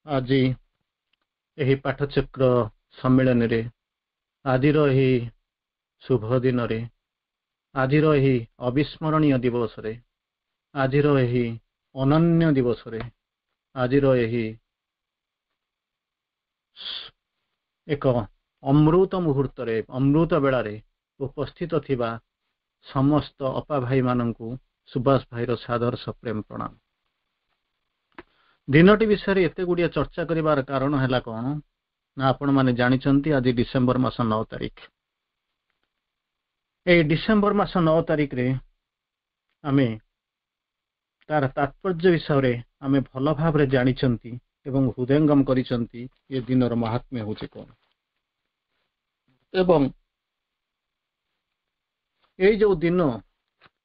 ଆଜି ଏହି ପାଠଚକ୍ର ସମ୍ମିଳନୀରେ, ଆଜିର ଏହି ଶୁଭ ଦିନରେ, ଆଜିର ଏହି ଅବିସ୍ମରଣୀୟ ଦିବସରେ, ଆଜିର ଏହି ଅନନ୍ୟ ଦିବସରେ, ଆଜିର ଏହି ଏକ ଅମୃତ ମୁହୂର୍ତ୍ତରେ, ଅମୃତ ବେଳାରେ ଉପସ୍ଥିତ ଥିବା ସମସ୍ତ ଅପା ଭାଇମାନଙ୍କୁ ସୁଭାଷ ଭାଇର ସାଦର ସପ୍ରେମ ପ୍ରଣାମ। ଦିନଟି ବିଷୟରେ ଏତେ ଗୁଡ଼ିଏ ଚର୍ଚ୍ଚା କରିବାର କାରଣ ହେଲା କ'ଣ ନା, ଆପଣମାନେ ଜାଣିଛନ୍ତି ଆଜି ଡିସେମ୍ବର ମାସ 9 ତାରିଖ। ଏଇ ଡିସେମ୍ବର ମାସ 9 ତାରିଖରେ ଆମେ ତାର ତାତ୍ପର୍ଯ୍ୟ ବିଷୟରେ ଆମେ ଭଲ ଭାବରେ ଜାଣିଛନ୍ତି ଏବଂ ହୃଦୟଙ୍ଗମ କରିଛନ୍ତି ଏ ଦିନର ମହାତ୍ମ୍ୟ ହେଉଛି କ'ଣ। ଏବଂ ଏଇ ଯୋଉ ଦିନ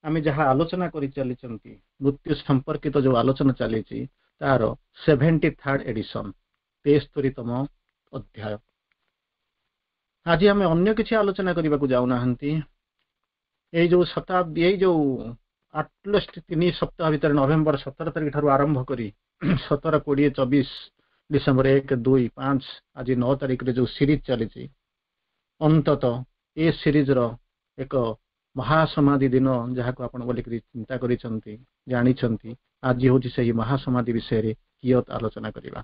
ଆମେ ଯାହା ଆଲୋଚନା କରି ଚାଲିଛନ୍ତି, ମୃତ୍ୟୁ ସମ୍ପର୍କିତ ଯୋଉ ଆଲୋଚନା ଚାଲିଛି, ତାର 73rd edition, 73ତମ ଅଧ୍ୟାୟ। ଆଜି ଆମେ ଅନ୍ୟ କିଛି ଆଲୋଚନା କରିବାକୁ ଯାଉନାହାନ୍ତି। ଏଇ ଯୋଉ ଶତାବ୍ଦୀ, ଏଇ ଯୋଉ ଆଟଲିଷ୍ଟ 3 ସପ୍ତାହ ଭିତରେ ନଭେମ୍ବର 17 ତାରିଖ ଠାରୁ ଆରମ୍ଭ କରି 17, 20, 24, ଡିସେମ୍ବର 1, 2, 5, ଆଜି 9 ତାରିଖରେ ଯୋଉ ସିରିଜ ଚାଲିଛି, ଅନ୍ତତଃ ଏ ସିରିଜର ଏକ ମହାସମାଧି ଦିନ ଯାହାକୁ ଆପଣ ବୋଲିକରି ଚିନ୍ତା କରିଛନ୍ତି, ଜାଣିଛନ୍ତି, ଆଜି ହେଉଛି ସେହି ମହାସମାଧି ବିଷୟରେ କିୟତ ଆଲୋଚନା କରିବା।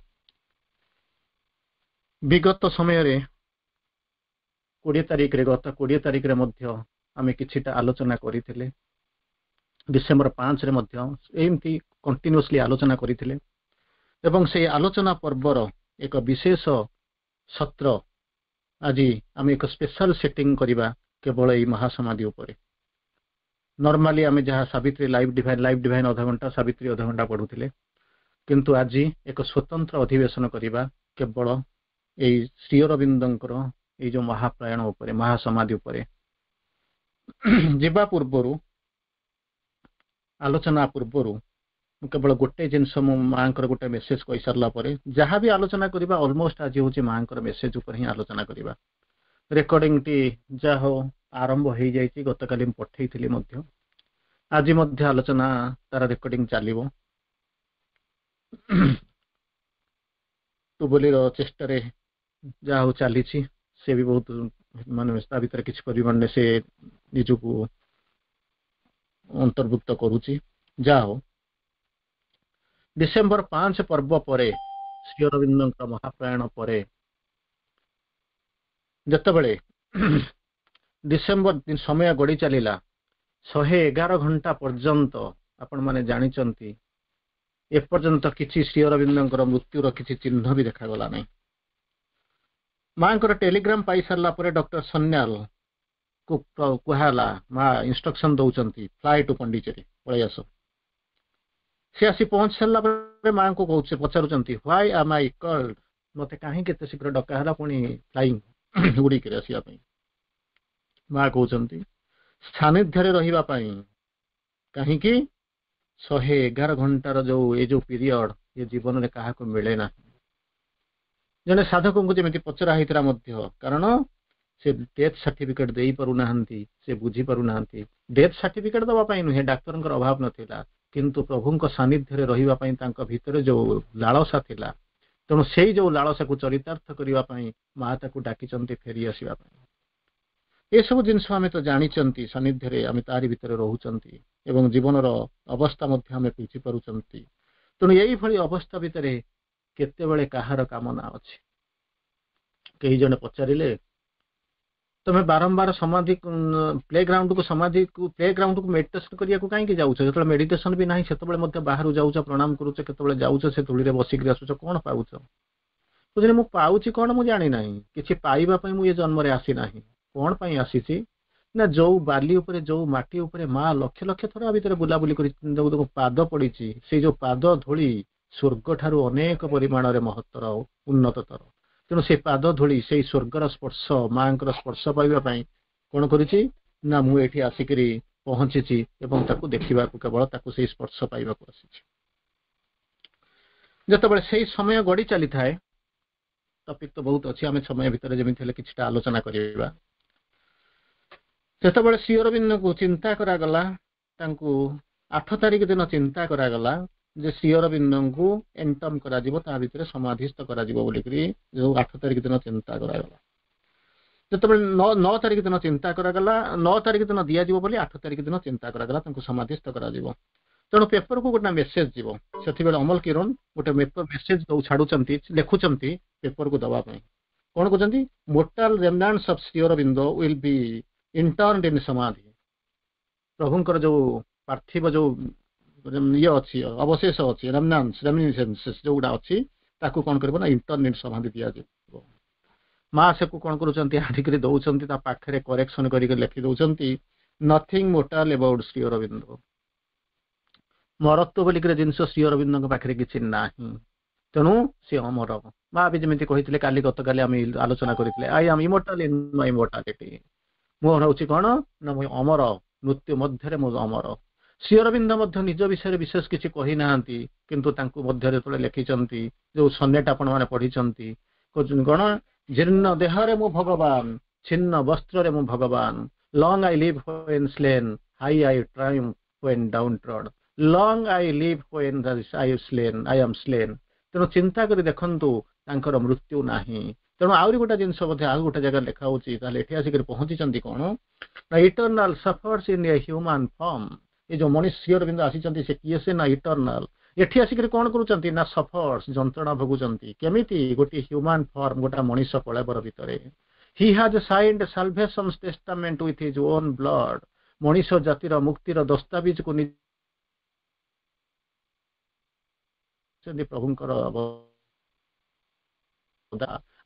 ବିଗତ ସମୟରେ 20 ତାରିଖରେ, ଗତ 20 ତାରିଖରେ ମଧ୍ୟ ଆମେ କିଛିଟା ଆଲୋଚନା କରିଥିଲେ। ଡିସେମ୍ବର 5ରେ ମଧ୍ୟ ଏମିତି କଣ୍ଟିନ୍ୟୁଅସଲି ଆଲୋଚନା କରିଥିଲେ ଏବଂ ସେଇ ଆଲୋଚନା ପର୍ବର ଏକ ବିଶେଷ ସତ୍ର ଆଜି ଆମେ ଏକ ସ୍ପେଶାଲ ସେଟିଂ କରିବା କେବଳ ଏଇ ମହାସମାଧି ଉପରେ। ନର୍ମାଲି ଆମେ ଯାହା ସାବିତ୍ରୀ ଲାଇଭ୍ ଡିଭାଇନ୍ ଅଧଘଣ୍ଟା, ସାବିତ୍ରୀ ଅଧଘଣ୍ଟା ପଢୁଥିଲେ, କିନ୍ତୁ ଆଜି ଏକ ସ୍ୱତନ୍ତ୍ର ଅଧିବେଶନ କରିବା କେବଳ ଏଇ ଶ୍ରୀ ଅରବିନ୍ଦଙ୍କର ଏଇ ଯୋଉ ମହାପ୍ରୟାଣ ଉପରେ, ମହାସମାଧି ଉପରେ। ଯିବା ପୂର୍ବରୁ, ଆଲୋଚନା ପୂର୍ବରୁ ମୁଁ କେବଳ ଗୋଟେ ଜିନିଷ, ମୁଁ ମାଙ୍କର ଗୋଟେ ମେସେଜ କହିସାରିଲା ପରେ ଯାହା ବି ଆଲୋଚନା କରିବା ଅଲମୋଷ୍ଟ ଆଜି ହେଉଛି ମାଙ୍କର ମେସେଜ ଉପରେ ହିଁ ଆଲୋଚନା କରିବା। ରେକର୍ଡିଂଟି ଯାହା ହଉ ଆରମ୍ଭ ହେଇଯାଇଛି, ଗତକାଲି ମୁଁ ପଠେଇଥିଲି ମଧ୍ୟ, ଆଜି ମଧ୍ୟ ଆଲୋଚନା ତାର ରେକର୍ଡିଂ ଚାଲିବ। ଟୁବଲିର ଚେଷ୍ଟାରେ ଯାହା ହଉ ଚାଲିଛି, ସେ ବି ବହୁତ ମାନେ ତା ଭିତରେ କିଛି ପରିମାଣରେ ସେ ନିଜକୁ ଅନ୍ତର୍ଭୁକ୍ତ କରୁଛି। ଯାହା ହଉ, ଡିସେମ୍ବର 5 ପର୍ବ ପରେ, ଶ୍ରୀ ଅରବିନ୍ଦଙ୍କ ମହାପ୍ରୟାଣ ପରେ, ଯେତେବେଳେ ଡିସେମ୍ବର ସମୟ ଗଡ଼ି ଚାଲିଲା, 111 ଘଣ୍ଟା ପର୍ଯ୍ୟନ୍ତ ଆପଣମାନେ ଜାଣିଛନ୍ତି ଏପର୍ଯ୍ୟନ୍ତ କିଛି ଶ୍ରୀ ଅରବିନ୍ଦଙ୍କର ମୃତ୍ୟୁର କିଛି ଚିହ୍ନ ବି ଦେଖାଗଲା ନାହିଁ। ମାଙ୍କର ଟେଲିଗ୍ରାମ ପାଇସାରିଲା ପରେ ଡକ୍ଟର ସନ୍ୟାଲ କୁ କୁହାହେଲା, ମା ଇନଷ୍ଟ୍ରକ୍ସନ ଦଉଛନ୍ତି ଫ୍ଲାଏ ଟୁ ପଣ୍ଡିଚେରୀ, ପଳେଇ ଆସ। ସେ ଆସି ପହଞ୍ଚି ସାରିଲା ପରେ ମାଙ୍କୁ କହୁଛି, ପଚାରୁଛନ୍ତି why ଆମ I called, ମତେ କାହିଁକି ଏତେ ଶୀଘ୍ର ଡକା ହେଲା ପୁଣି ଫ୍ଲାଇଂ ଉଡ଼ିକିରି ଆସିବା ପାଇଁ। ମା କହୁଛନ୍ତି ସାନ୍ନିଧ୍ୟରେ ରହିବା ପାଇଁ। କାହିଁକି? 111 ଘଣ୍ଟାର ଯୋଉ ଏ ଯୋଉ ପିରିୟଡ, ଏ ଜୀବନରେ କାହାକୁ ମିଳେ ନାହିଁ। ଜଣେ ସାଧକଙ୍କୁ ଯେମିତି ପଚରା ହେଇଥିଲା ମଧ୍ୟ, କାରଣ ସେ ଡେଥ୍ ସାର୍ଟିଫିକେଟ ଦେଇପାରୁନାହାନ୍ତି, ସେ ବୁଝିପାରୁନାହାନ୍ତି। ଡେଥ୍ ସାର୍ଟିଫିକେଟ ଦେବା ପାଇଁ ନୁହେଁ, ଡାକ୍ତରଙ୍କର ଅଭାବ ନଥିଲା, କିନ୍ତୁ ପ୍ରଭୁଙ୍କ ସାନ୍ନିଧ୍ୟରେ ରହିବା ପାଇଁ ତାଙ୍କ ଭିତରେ ଯୋଉ ଲାଳସା ଥିଲା, ତେଣୁ ସେଇ ଯୋଉ ଲାଳସାକୁ ଚରିତାର୍ଥ କରିବା ପାଇଁ ମା ତାକୁ ଡାକିଛନ୍ତି ଫେରି ଆସିବା ପାଇଁ। ଏସବୁ ଜିନିଷ ଆମେ ତ ଜାଣିଛନ୍ତି, ସାନ୍ନିଧ୍ୟରେ ଆମେ ତାରି ଭିତରେ ରହୁଛନ୍ତି ଏବଂ ଜୀବନର ଅବସ୍ଥା ମଧ୍ୟ ଆମେ ବୁଝିପାରୁଛନ୍ତି। ତେଣୁ ଏଇଭଳି ଅବସ୍ଥା ଭିତରେ କେତେବେଳେ କାହାର କାମନା ଅଛି? କେହି ଜଣେ ପଚାରିଲେ, ତମେ ବାରମ୍ବାର ସମାଧି ପ୍ଲେ ଗ୍ରାଉଣ୍ଡକୁ, ସମାଧିକୁ, ପ୍ଲେ ଗ୍ରାଉଣ୍ଡକୁ ମେଡିଟେସନ କରିବାକୁ କାହିଁକି ଯାଉଛ? ଯେତେବେଳେ ମେଡିଟେସନ ବି ନାହିଁ ସେତେବେଳେ ମଧ୍ୟ ବାହାରୁ ଯାଉଛ, ପ୍ରଣାମ କରୁଛ, କେତେବେଳେ ଯାଉଛ ସେ ଧୂଳିରେ ବସିକିରି ଆସୁଛ, କଣ ପାଉଛ? ବୁଝିଲେ, ମୁଁ ପାଉଛି କଣ ମୁଁ ଜାଣିନାହିଁ, କିଛି ପାଇବା ପାଇଁ ମୁଁ ଏ ଜନ୍ମରେ ଆସିନାହିଁ। କଣ ପାଇଁ ଆସିଛି ନା, ଯୋଉ ବାଲି ଉପରେ, ଯୋଉ ମାଟି ଉପରେ ମା ଲକ୍ଷ ଲକ୍ଷ ଥର ଭିତରେ ବୁଲାବୁଲି କରି ଯୋଉ ପାଦ ପଡିଛି, ସେଇ ଯୋଉ ପାଦ ଧୂଳି ସ୍ୱର୍ଗ ଠାରୁ ଅନେକ ପରିମାଣରେ ମହତ୍ତର, ଉନ୍ନତତର। ତେଣୁ ସେ ପାଦ ଧୂଳି, ସେଇ ସ୍ୱର୍ଗର ସ୍ପର୍ଶ, ମାଙ୍କର ସ୍ପର୍ଶ ପାଇବା ପାଇଁ କଣ କରୁଛି ନା, ମୁଁ ଏଠି ଆସିକିରି ପହଞ୍ଚିଛି ଏବଂ ତାକୁ ଦେଖିବାକୁ, କେବଳ ତାକୁ ସେଇ ସ୍ପର୍ଶ ପାଇବାକୁ ଆସିଛି। ଯେତେବେଳେ ସେଇ ସମୟ ଗଡି ଚାଲିଥାଏ, ଟପିକ ତ ବହୁତ ଅଛି, ଆମେ ସମୟ ଭିତରେ ଯେମିତି ହେଲେ କିଛିଟା ଆଲୋଚନା କରିବା। ଯେତେବେଳେ ଶ୍ରୀ ଅରବିନ୍ଦଙ୍କୁ ଚିନ୍ତା କରାଗଲା, ତାଙ୍କୁ 8 ତାରିଖ ଦିନ ଚିନ୍ତା କରାଗଲା ଯେ ଶ୍ରୀ ଅରବିନ୍ଦଙ୍କୁ ଏଣ୍ଟମ୍ କରାଯିବ, ତା ଭିତରେ ସମାଧିସ୍ଥ କରାଯିବ ବୋଲିକରି ଯୋଉ 8 ତାରିଖ ଦିନ ଚିନ୍ତା କରାଗଲା। ଯେତେବେଳେ 9 ତାରିଖ ଦିନ ଚିନ୍ତା କରାଗଲା, 9 ତାରିଖ ଦିନ ଦିଆଯିବ ବୋଲି 8 ତାରିଖ ଦିନ ଚିନ୍ତା କରାଗଲା, ତାଙ୍କୁ ସମାଧିସ୍ଥ କରାଯିବ। ତେଣୁ ପେପରକୁ ଗୋଟେ ମେସେଜ ଯିବ। ସେତେବେଳେ ଅମଲ କିରଣ ଗୋଟେ ମେସେଜ ଛାଡୁଛନ୍ତି, ଲେଖୁଛନ୍ତି ପେପରକୁ ଦବା ପାଇଁ। କଣ କହୁଛନ୍ତି? "Mortal remnants of Sri Aurobindo will be interned in samadhi." ପ୍ରଭୁଙ୍କର ଯୋଉ ପାର୍ଥିବ ଯୋଉ ଇଏ ଅଛି, ଅବଶେଷ ଅଛି, ରେମନାଣ୍ଟସ, ରେମିନିସେନ୍ସେସ୍ ଯୋଉଗୁଡା ଅଛି, ତାକୁ କଣ କରିବ ନା ଇଣ୍ଟର୍ନ ଇନ୍ ସମାଧି ଦିଆଯିବ। ମା ସେକୁ କଣ କରୁଛନ୍ତି? ଆଣିକରି ଦଉଛନ୍ତି। ତା ପାଖରେ କରେକ୍ସନ କରିକି ଲେଖି ଦଉଛନ୍ତି, "Nothing mortal about Sri Aurobindo." ମରତ୍ୱ ବୋଲିକିରି ଜିନିଷ ଶ୍ରୀ ଅରବିନ୍ଦଙ୍କ ପାଖରେ କିଛି ନାହିଁ। ତେଣୁ ସେ ଅମର। ମା ବି ଯେମିତି କହିଥିଲେ କାଲି, ଗତକାଲି ଆମେ ଆଲୋଚନା କରିଥିଲେ, "I am immortal in my mortality." ମୁଁ ହେଉଛି କଣ ନା ମୁଁ ଅମର, ମୃତ୍ୟୁ ମଧ୍ୟରେ ମୁଁ ଅମର। ଶ୍ରୀ ଅରବିନ୍ଦ ମଧ୍ୟ ନିଜ ବିଷୟରେ ବିଶେଷ କିଛି କହିନାହାନ୍ତି, କିନ୍ତୁ ତାଙ୍କୁ ମଧ୍ୟ ଯେତେବେଳେ ଲେଖିଛନ୍ତି, ଯୋଉ ସନେଟ ଆପଣମାନେ ପଢିଛନ୍ତି, କହୁଛନ୍ତି କଣ? ଜୀର୍ଣ୍ଣ ଦେହରେ ମୁଁ ଭଗବାନ, ଛିନ୍ନ ବସ୍ତ୍ରରେ ମୁଁ ଭଗବାନ। Long I live when slain, high I triumph when downtrod. Long I live when I slain, I am slain. ତେଣୁ ଚିନ୍ତା କରି ଦେଖନ୍ତୁ, ତାଙ୍କର ମୃତ୍ୟୁ ନାହିଁ। ତେଣୁ ଆହୁରି ଗୋଟେ ଜିନିଷ ମଧ୍ୟ ଆଉ ଗୋଟେ ଜାଗାରେ ଲେଖା ହଉଛି। ତାହେଲେ ଏଠି ଆସିକରି ପହଞ୍ଚିଛନ୍ତି କଣ ନା Eternal suffers in a human form. ଏ ଯୋଉ ମଣିଷ ଶ୍ରୀ ଅରବିନ୍ଦ ଆସିଛନ୍ତି, ସେ କିଏ ସେ ନା ଇଟର୍ନାଲ। ଏଠି ଆସିକରି କଣ କରୁଛନ୍ତି ନା ସଫର୍ସ, ଯନ୍ତ୍ରଣା ଭୋଗୁଛନ୍ତି। କେମିତି? ଗୋଟିଏ ହ୍ୟୁମାନ ଫର୍ମ, ଗୋଟେ ମଣିଷ କଳେବର ଭିତରେ। He has signed salvation testament with his own blood. ମଣିଷ ଜାତିର ମୁକ୍ତିର ଦସ୍ତାବିଜକୁ ପ୍ରଭୁଙ୍କର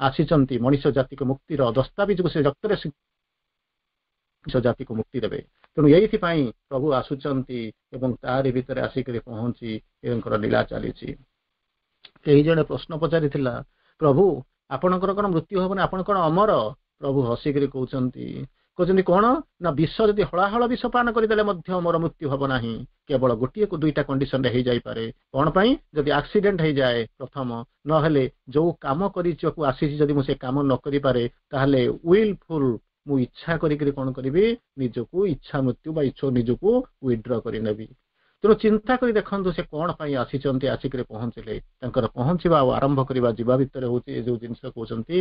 ଆସିଛନ୍ତି ମଣିଷ ଜାତିକୁ ମୁକ୍ତିର ଦସ୍ତାବିଜକୁ ସେ ରକ୍ତରେ ମଣିଷ ଜାତିକୁ ମୁକ୍ତି ଦେବେ। ତେଣୁ ଏଇଥିପାଇଁ ପ୍ରଭୁ ଆସୁଛନ୍ତି ଏବଂ ତାରି ଭିତରେ ଆସିକରି ପହଞ୍ଚି ଏଙ୍କର ଲୀଳା ଚାଲିଛି। କେହି ଜଣେ ପ୍ରଶ୍ନ ପଚାରିଥିଲା, ପ୍ରଭୁ, ଆପଣଙ୍କର କଣ ମୃତ୍ୟୁ ହବନି? ଆପଣ କଣ ଅମର? ପ୍ରଭୁ ହସିକରି କହୁଛନ୍ତି କଣ ନା ବିଷ ଯଦି ହଳାହଳ ବିଷ ପାନ କରିଦେଲେ ମଧ୍ୟ ମୋର ମୃତ୍ୟୁ ହବ ନାହିଁ। କେବଳ ଗୋଟିଏକୁ ଦୁଇଟା କଣ୍ଡିସନରେ ହେଇଯାଇପାରେ। କଣ ପାଇଁ? ଯଦି ଆକ୍ସିଡେଣ୍ଟ ହେଇଯାଏ ପ୍ରଥମ, ନହେଲେ ଯୋଉ କାମ କରିବାକୁ ଆସିଛି ଯଦି ମୁଁ ସେ କାମ ନ କରିପାରେ, ତାହେଲେ ୱିଲଫୁଲ, ମୁଁ ଇଚ୍ଛା କରିକିରି କଣ କରିବି, ନିଜକୁ ଇଚ୍ଛା ମୃତ୍ୟୁ ବା ଇଚ୍ଛା ନିଜକୁ ୱିଡ୍ର କରିନେବି। ତେଣୁ ଚିନ୍ତା କରି ଦେଖନ୍ତୁ, ସେ କଣ ପାଇଁ ଆସିଛନ୍ତି, ଆସିକରି ପହଞ୍ଚିଲେ। ତାଙ୍କର ପହଞ୍ଚିବା ଆଉ ଆରମ୍ଭ କରିବା ଯିବା ଭିତରେ ହଉଛି ଏ ଯୋଉ ଜିନିଷ କହୁଛନ୍ତି,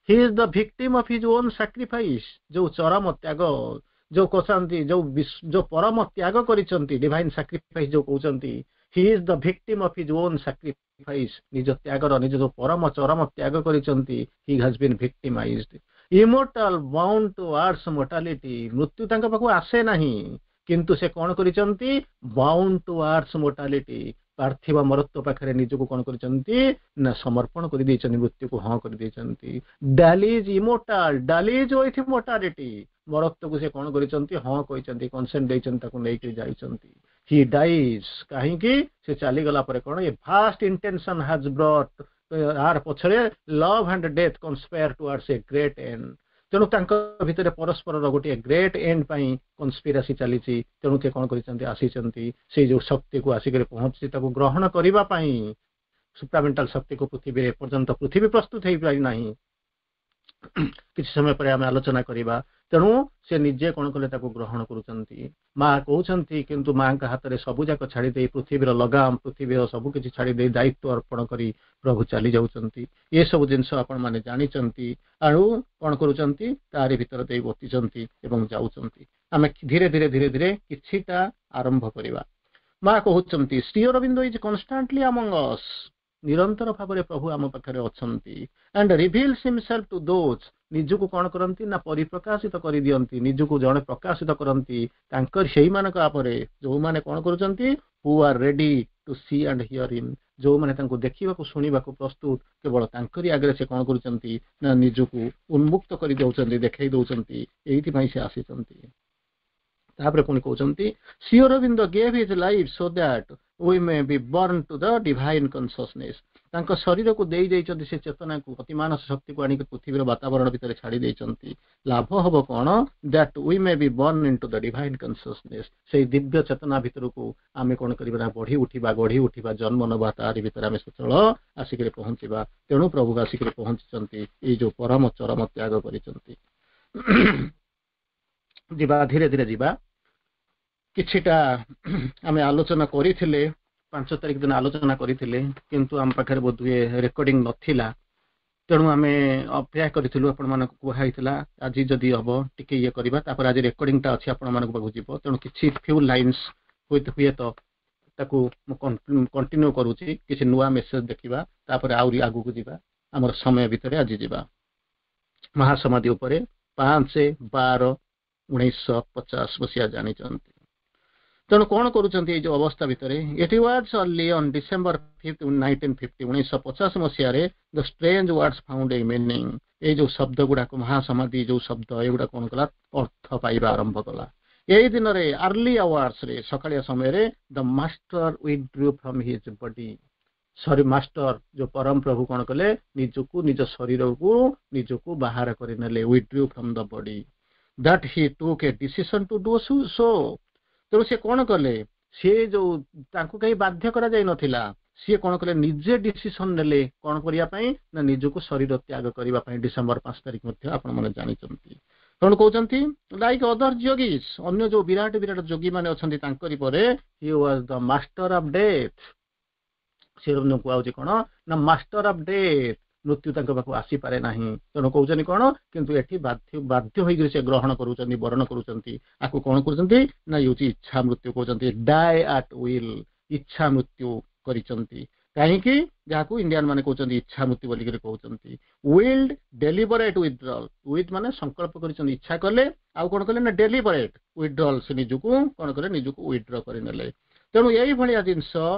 "He is the victim of his own sacrifice." ଯୋଉ ଚରମ ତ୍ୟାଗ ଯୋଉ କହୁଛନ୍ତି, ଯୋଉ ପରମ ତ୍ୟାଗ କରିଛନ୍ତି, ଡିଭାଇନ ସାକ୍ରିଫାଇସ୍ ଯୋଉ କହୁଛନ୍ତି, he is the victim of his own sacrifice. ନିଜ ତ୍ୟାଗର, ନିଜ ଯୋଉ ପରମ ଚରମ ତ୍ୟାଗ କରିଛନ୍ତି, he has been victimized. Immortal bound towards mortality. ମୃତ୍ୟୁ ତାଙ୍କ ପାଖକୁ ଆସେ ନାହିଁ, କିନ୍ତୁ ସେ କଣ କରିଛନ୍ତି? ବାଉଣ୍ଡ ଟୁୱାର୍ଡସ ମୋର୍ଟାଲିଟି, ପାର୍ଥିବ ମରତ୍ୱ ପାଖରେ ନିଜକୁ କଣ କରିଛନ୍ତି ନା ସମର୍ପଣ କରିଦେଇଛନ୍ତି, ମୃତ୍ୟୁକୁ ହଁ କରିଦେଇଛନ୍ତି। Dallies immortal, dallies with mortality. ମରତ୍ୱକୁ ସେ କଣ କରିଛନ୍ତି? ହଁ କହିଛନ୍ତି, କନସେଣ୍ଟ ଦେଇଛନ୍ତି, ତାକୁ ନେଇକି ଯାଇଛନ୍ତି। He dies. କାହିଁକି? ସେ ଚାଲିଗଲା ପରେ କଣ? A vast intention has brought, ଆର ପଛରେ love and death conspire towards a great end. ତେଣୁ ତାଙ୍କ ଭିତରେ ପରସ୍ପରର ଗୋଟିଏ ଗ୍ରେଟ୍ ଏଣ୍ଡ ପାଇଁ କନସ୍ପିରାସି ଚାଲିଛି। ତେଣୁ ସେ କଣ କରିଛନ୍ତି? ଆସିଛନ୍ତି ସେଇ ଯୋଉ ଶକ୍ତିକୁ ଆସିକରି ପହଞ୍ଚି ତାକୁ ଗ୍ରହଣ କରିବା ପାଇଁ, ସୁପ୍ରାମେଣ୍ଟାଲ ଶକ୍ତିକୁ। ପୃଥିବୀରେ ଏପର୍ଯ୍ୟନ୍ତ ପୃଥିବୀ ପ୍ରସ୍ତୁତ ହେଇପାରି ନାହିଁ। କିଛି ସମୟ ପରେ ଆମେ ଆଲୋଚନା କରିବା। ତେଣୁ ସେ ନିଜେ କଣ କଲେ? ତାକୁ ଗ୍ରହଣ କରୁଛନ୍ତି, ମା କହୁଛନ୍ତି। କିନ୍ତୁ ମାଙ୍କ ହାତରେ ସବୁ ଯାକ ଛାଡି ଦେଇ, ପୃଥିବୀର ଲଗାମ, ପୃଥିବୀର ସବୁ କିଛି ଛାଡି ଦେଇ, ଦାୟିତ୍ୱ ଅର୍ପଣ କରି ପ୍ରଭୁ ଚାଲି ଯାଉଛନ୍ତି। ଏସବୁ ଜିନିଷ ଆପଣମାନେ ଜାଣିଛନ୍ତି। ଆଉ କଣ କରୁଛନ୍ତି? ତାରି ଭିତରେ ଦେଇ ବତିଛନ୍ତି ଏବଂ ଯାଉଛନ୍ତି। ଆମେ ଧୀରେ ଧୀରେ ଧୀରେ ଧୀରେ କିଛିଟା ଆରମ୍ଭ କରିବା। ମା କହୁଛନ୍ତି, "Sri Aurobindo is constantly among us." ନିରନ୍ତର ଭାବରେ ପ୍ରଭୁ ଆମ ପାଖରେ ଅଛନ୍ତି। "And reveals himself to those." ନିଜକୁ କଣ କରନ୍ତି ନା ପରିପ୍ରକାଶିତ କରିଦିଅନ୍ତି, ନିଜକୁ ଜଣେ ପ୍ରକାଶିତ କରନ୍ତି ତାଙ୍କର ସେଇମାନଙ୍କ ଉପରେ, ଯୋଉମାନେ କଣ କରୁଛନ୍ତି? "Who are ready to see and hear him." ଯୋଉମାନେ ତାଙ୍କୁ ଦେଖିବାକୁ ଶୁଣିବାକୁ ପ୍ରସ୍ତୁତ, କେବଳ ତାଙ୍କରି ଆଗରେ ସେ କଣ କରୁଛନ୍ତି ନା ନିଜକୁ ଉନ୍ମୁକ୍ତ କରିଦେଉଛନ୍ତି, ଦେଖେଇ ଦଉଛନ୍ତି। ଏଇଥିପାଇଁ ସେ ଆସିଛନ୍ତି। ତାପରେ ପୁଣି କହୁଛନ୍ତି, "Sri Aurobindo gave his life so that we may be born to the divine consciousness." ତାଙ୍କ ଶରୀରକୁ ଦେଇ ଦେଇଛନ୍ତି, ସେ ଚେତନାକୁ, ଅତିମାନସ ଶକ୍ତିକୁ ଆଣିକି ପୃଥିବୀର ବାତାବରଣ ଭିତରେ ଛାଡି ଦେଇଛନ୍ତି। ଲାଭ ହବ କଣ? "That we may be born into the divine consciousness." ସେଇ ଦିବ୍ୟ ଚେତନା ଭିତରକୁ ଆମେ କଣ କରିବା ନା ବଢି ଉଠିବା, ଗଢି ଉଠିବା, ଜନ୍ମ ନବା। ତାରି ଭିତରେ ଆମେ ସଚଳ ଆସିକରି ପହଞ୍ଚିବା। ତେଣୁ ପ୍ରଭୁ ଆସିକରି ପହଞ୍ଚିଛନ୍ତି, ଏଇ ଯୋଉ ପରମ ଚରମ ତ୍ୟାଗ କରିଛନ୍ତି। ଯିବା, ଧୀରେ ଧୀରେ ଯିବା। କିଛିଟା ଆମେ ଆଲୋଚନା କରିଥିଲେ। 5 ତାରିଖ ଦିନ ଆଲୋଚନା କରିଥିଲେ, କିନ୍ତୁ ଆମ ପାଖରେ ବୋଧହୁଏ ରେକର୍ଡିଂ ନଥିଲା। ତେଣୁ ଆମେ ଅପେକ୍ଷା କରିଥିଲୁ। ଆପଣମାନଙ୍କୁ କୁହା ହେଇଥିଲା, ଆଜି ଯଦି ହବ ଟିକେ ଇଏ କରିବା। ତାପରେ ଆଜି ରେକର୍ଡିଂଟା ଅଛି, ଆପଣମାନଙ୍କ ପାଖକୁ ଯିବ। ତେଣୁ କିଛି ଫ୍ୟୁ ଲାଇନ୍ସ ହୁଏତ ତାକୁ ମୁଁ କଣ୍ଟିନ୍ୟୁ କରୁଛି। କିଛି ନୂଆ ମେସେଜ ଦେଖିବା, ତାପରେ ଆହୁରି ଆଗକୁ ଯିବା। ଆମର ସମୟ ଭିତରେ ଆଜି ଯିବା ମହାସମାଧି ଉପରେ। 5/12/1950 ମସିହା ଜାଣିଛନ୍ତି। ତେଣୁ କଣ କରୁଛନ୍ତି ଏଇ ଯୋଉ ଅବସ୍ଥା ଭିତରେ? It was only on December 5th, 1950, 1950 ମସିହାରେ, the strange words found a meaning. ଏଇ ଯୋଉ ଶବ୍ଦ ଗୁଡାକ, ମହାସମାଧି ଯୋଉ ଶବ୍ଦ, ଏଗୁଡା କଣ କଲା? ଅର୍ଥ ପାଇବା ଆରମ୍ଭ କଲା। ଏଇ ଦିନରେ ଆର୍ଲି ଆୱାର୍ସରେ, ସକାଳିଆ ସମୟରେ, the Master withdrew from his body. Sorry, master ଯୋଉ ପରମ ପ୍ରଭୁ କଣ କଲେ? ନିଜକୁ, ନିଜ ଶରୀରକୁ ନିଜକୁ ବାହାର କରିନେଲେ। Withdrew from the body, that he took a decision to do so. ତେଣୁ ସେ କଣ କଲେ? ସିଏ ଯୋଉ ତାଙ୍କୁ କେହି ବାଧ୍ୟ କରାଯାଇ ନଥିଲା। ସିଏ କଣ କଲେ? ନିଜେ ଡିସିସନ ନେଲେ। କଣ କରିବା ପାଇଁ ନା ନିଜକୁ ଶରୀର ତ୍ୟାଗ କରିବା ପାଇଁ। ଡିସେମ୍ବର 5 ତାରିଖ ମଧ୍ୟ ଆପଣମାନେ ଜାଣିଛନ୍ତି। କଣ କହୁଛନ୍ତି? ଲାଇକ୍ ଅଦର ଯୋଗିସ୍, ଅନ୍ୟ ଯୋଉ ବିରାଟ ବିରାଟ ଯୋଗୀ ମାନେ ଅଛନ୍ତି, ତାଙ୍କରି ପରେ he was the master of death. ସେ କୁହାହଉଛି କଣ ନା ମାଷ୍ଟର ଅଫ ଡେଥ୍। ମୃତ୍ୟୁ ତାଙ୍କ ପାଖକୁ ଆସିପାରେ ନାହିଁ। ତେଣୁ କହୁଛନ୍ତି କଣ? କିନ୍ତୁ ଏଠି ବାଧ୍ୟ ବାଧ୍ୟ ହୋଇକରି ସେ ଗ୍ରହଣ କରୁଛନ୍ତି, ବରଣ କରୁଛନ୍ତି। ଆକୁ କଣ କରୁଛନ୍ତି ନା ଇଏ ହଉଛି ଇଚ୍ଛା ମୃତ୍ୟୁ କହୁଛନ୍ତି। ଡାଏ ଆଟ୍ will, ଇଚ୍ଛା ମୃତ୍ୟୁ କରିଛନ୍ତି। କାହିଁକି? ଯାହାକୁ ଇଣ୍ଡିଆନ ମାନେ କହୁଛନ୍ତି ଇଚ୍ଛା ମୃତ୍ୟୁ ବୋଲିକରି କହୁଛନ୍ତି। ୱିଲ୍ଡ ଡେଲିବରେଟ୍ ୱିଥଡ୍ରଲ୍। Will ମାନେ ସଂକଳ୍ପ କରିଛନ୍ତି, ଇଚ୍ଛା କଲେ। ଆଉ କଣ କଲେ ନା ଡେଲିବରେଟ୍ ୱିଥଡ୍ରଲ୍। ସେ ନିଜକୁ କଣ କଲେ? ନିଜକୁ ୱିଥଡ୍ର କରିନେଲେ। ତେଣୁ ଏଇଭଳିଆ ଜିନିଷ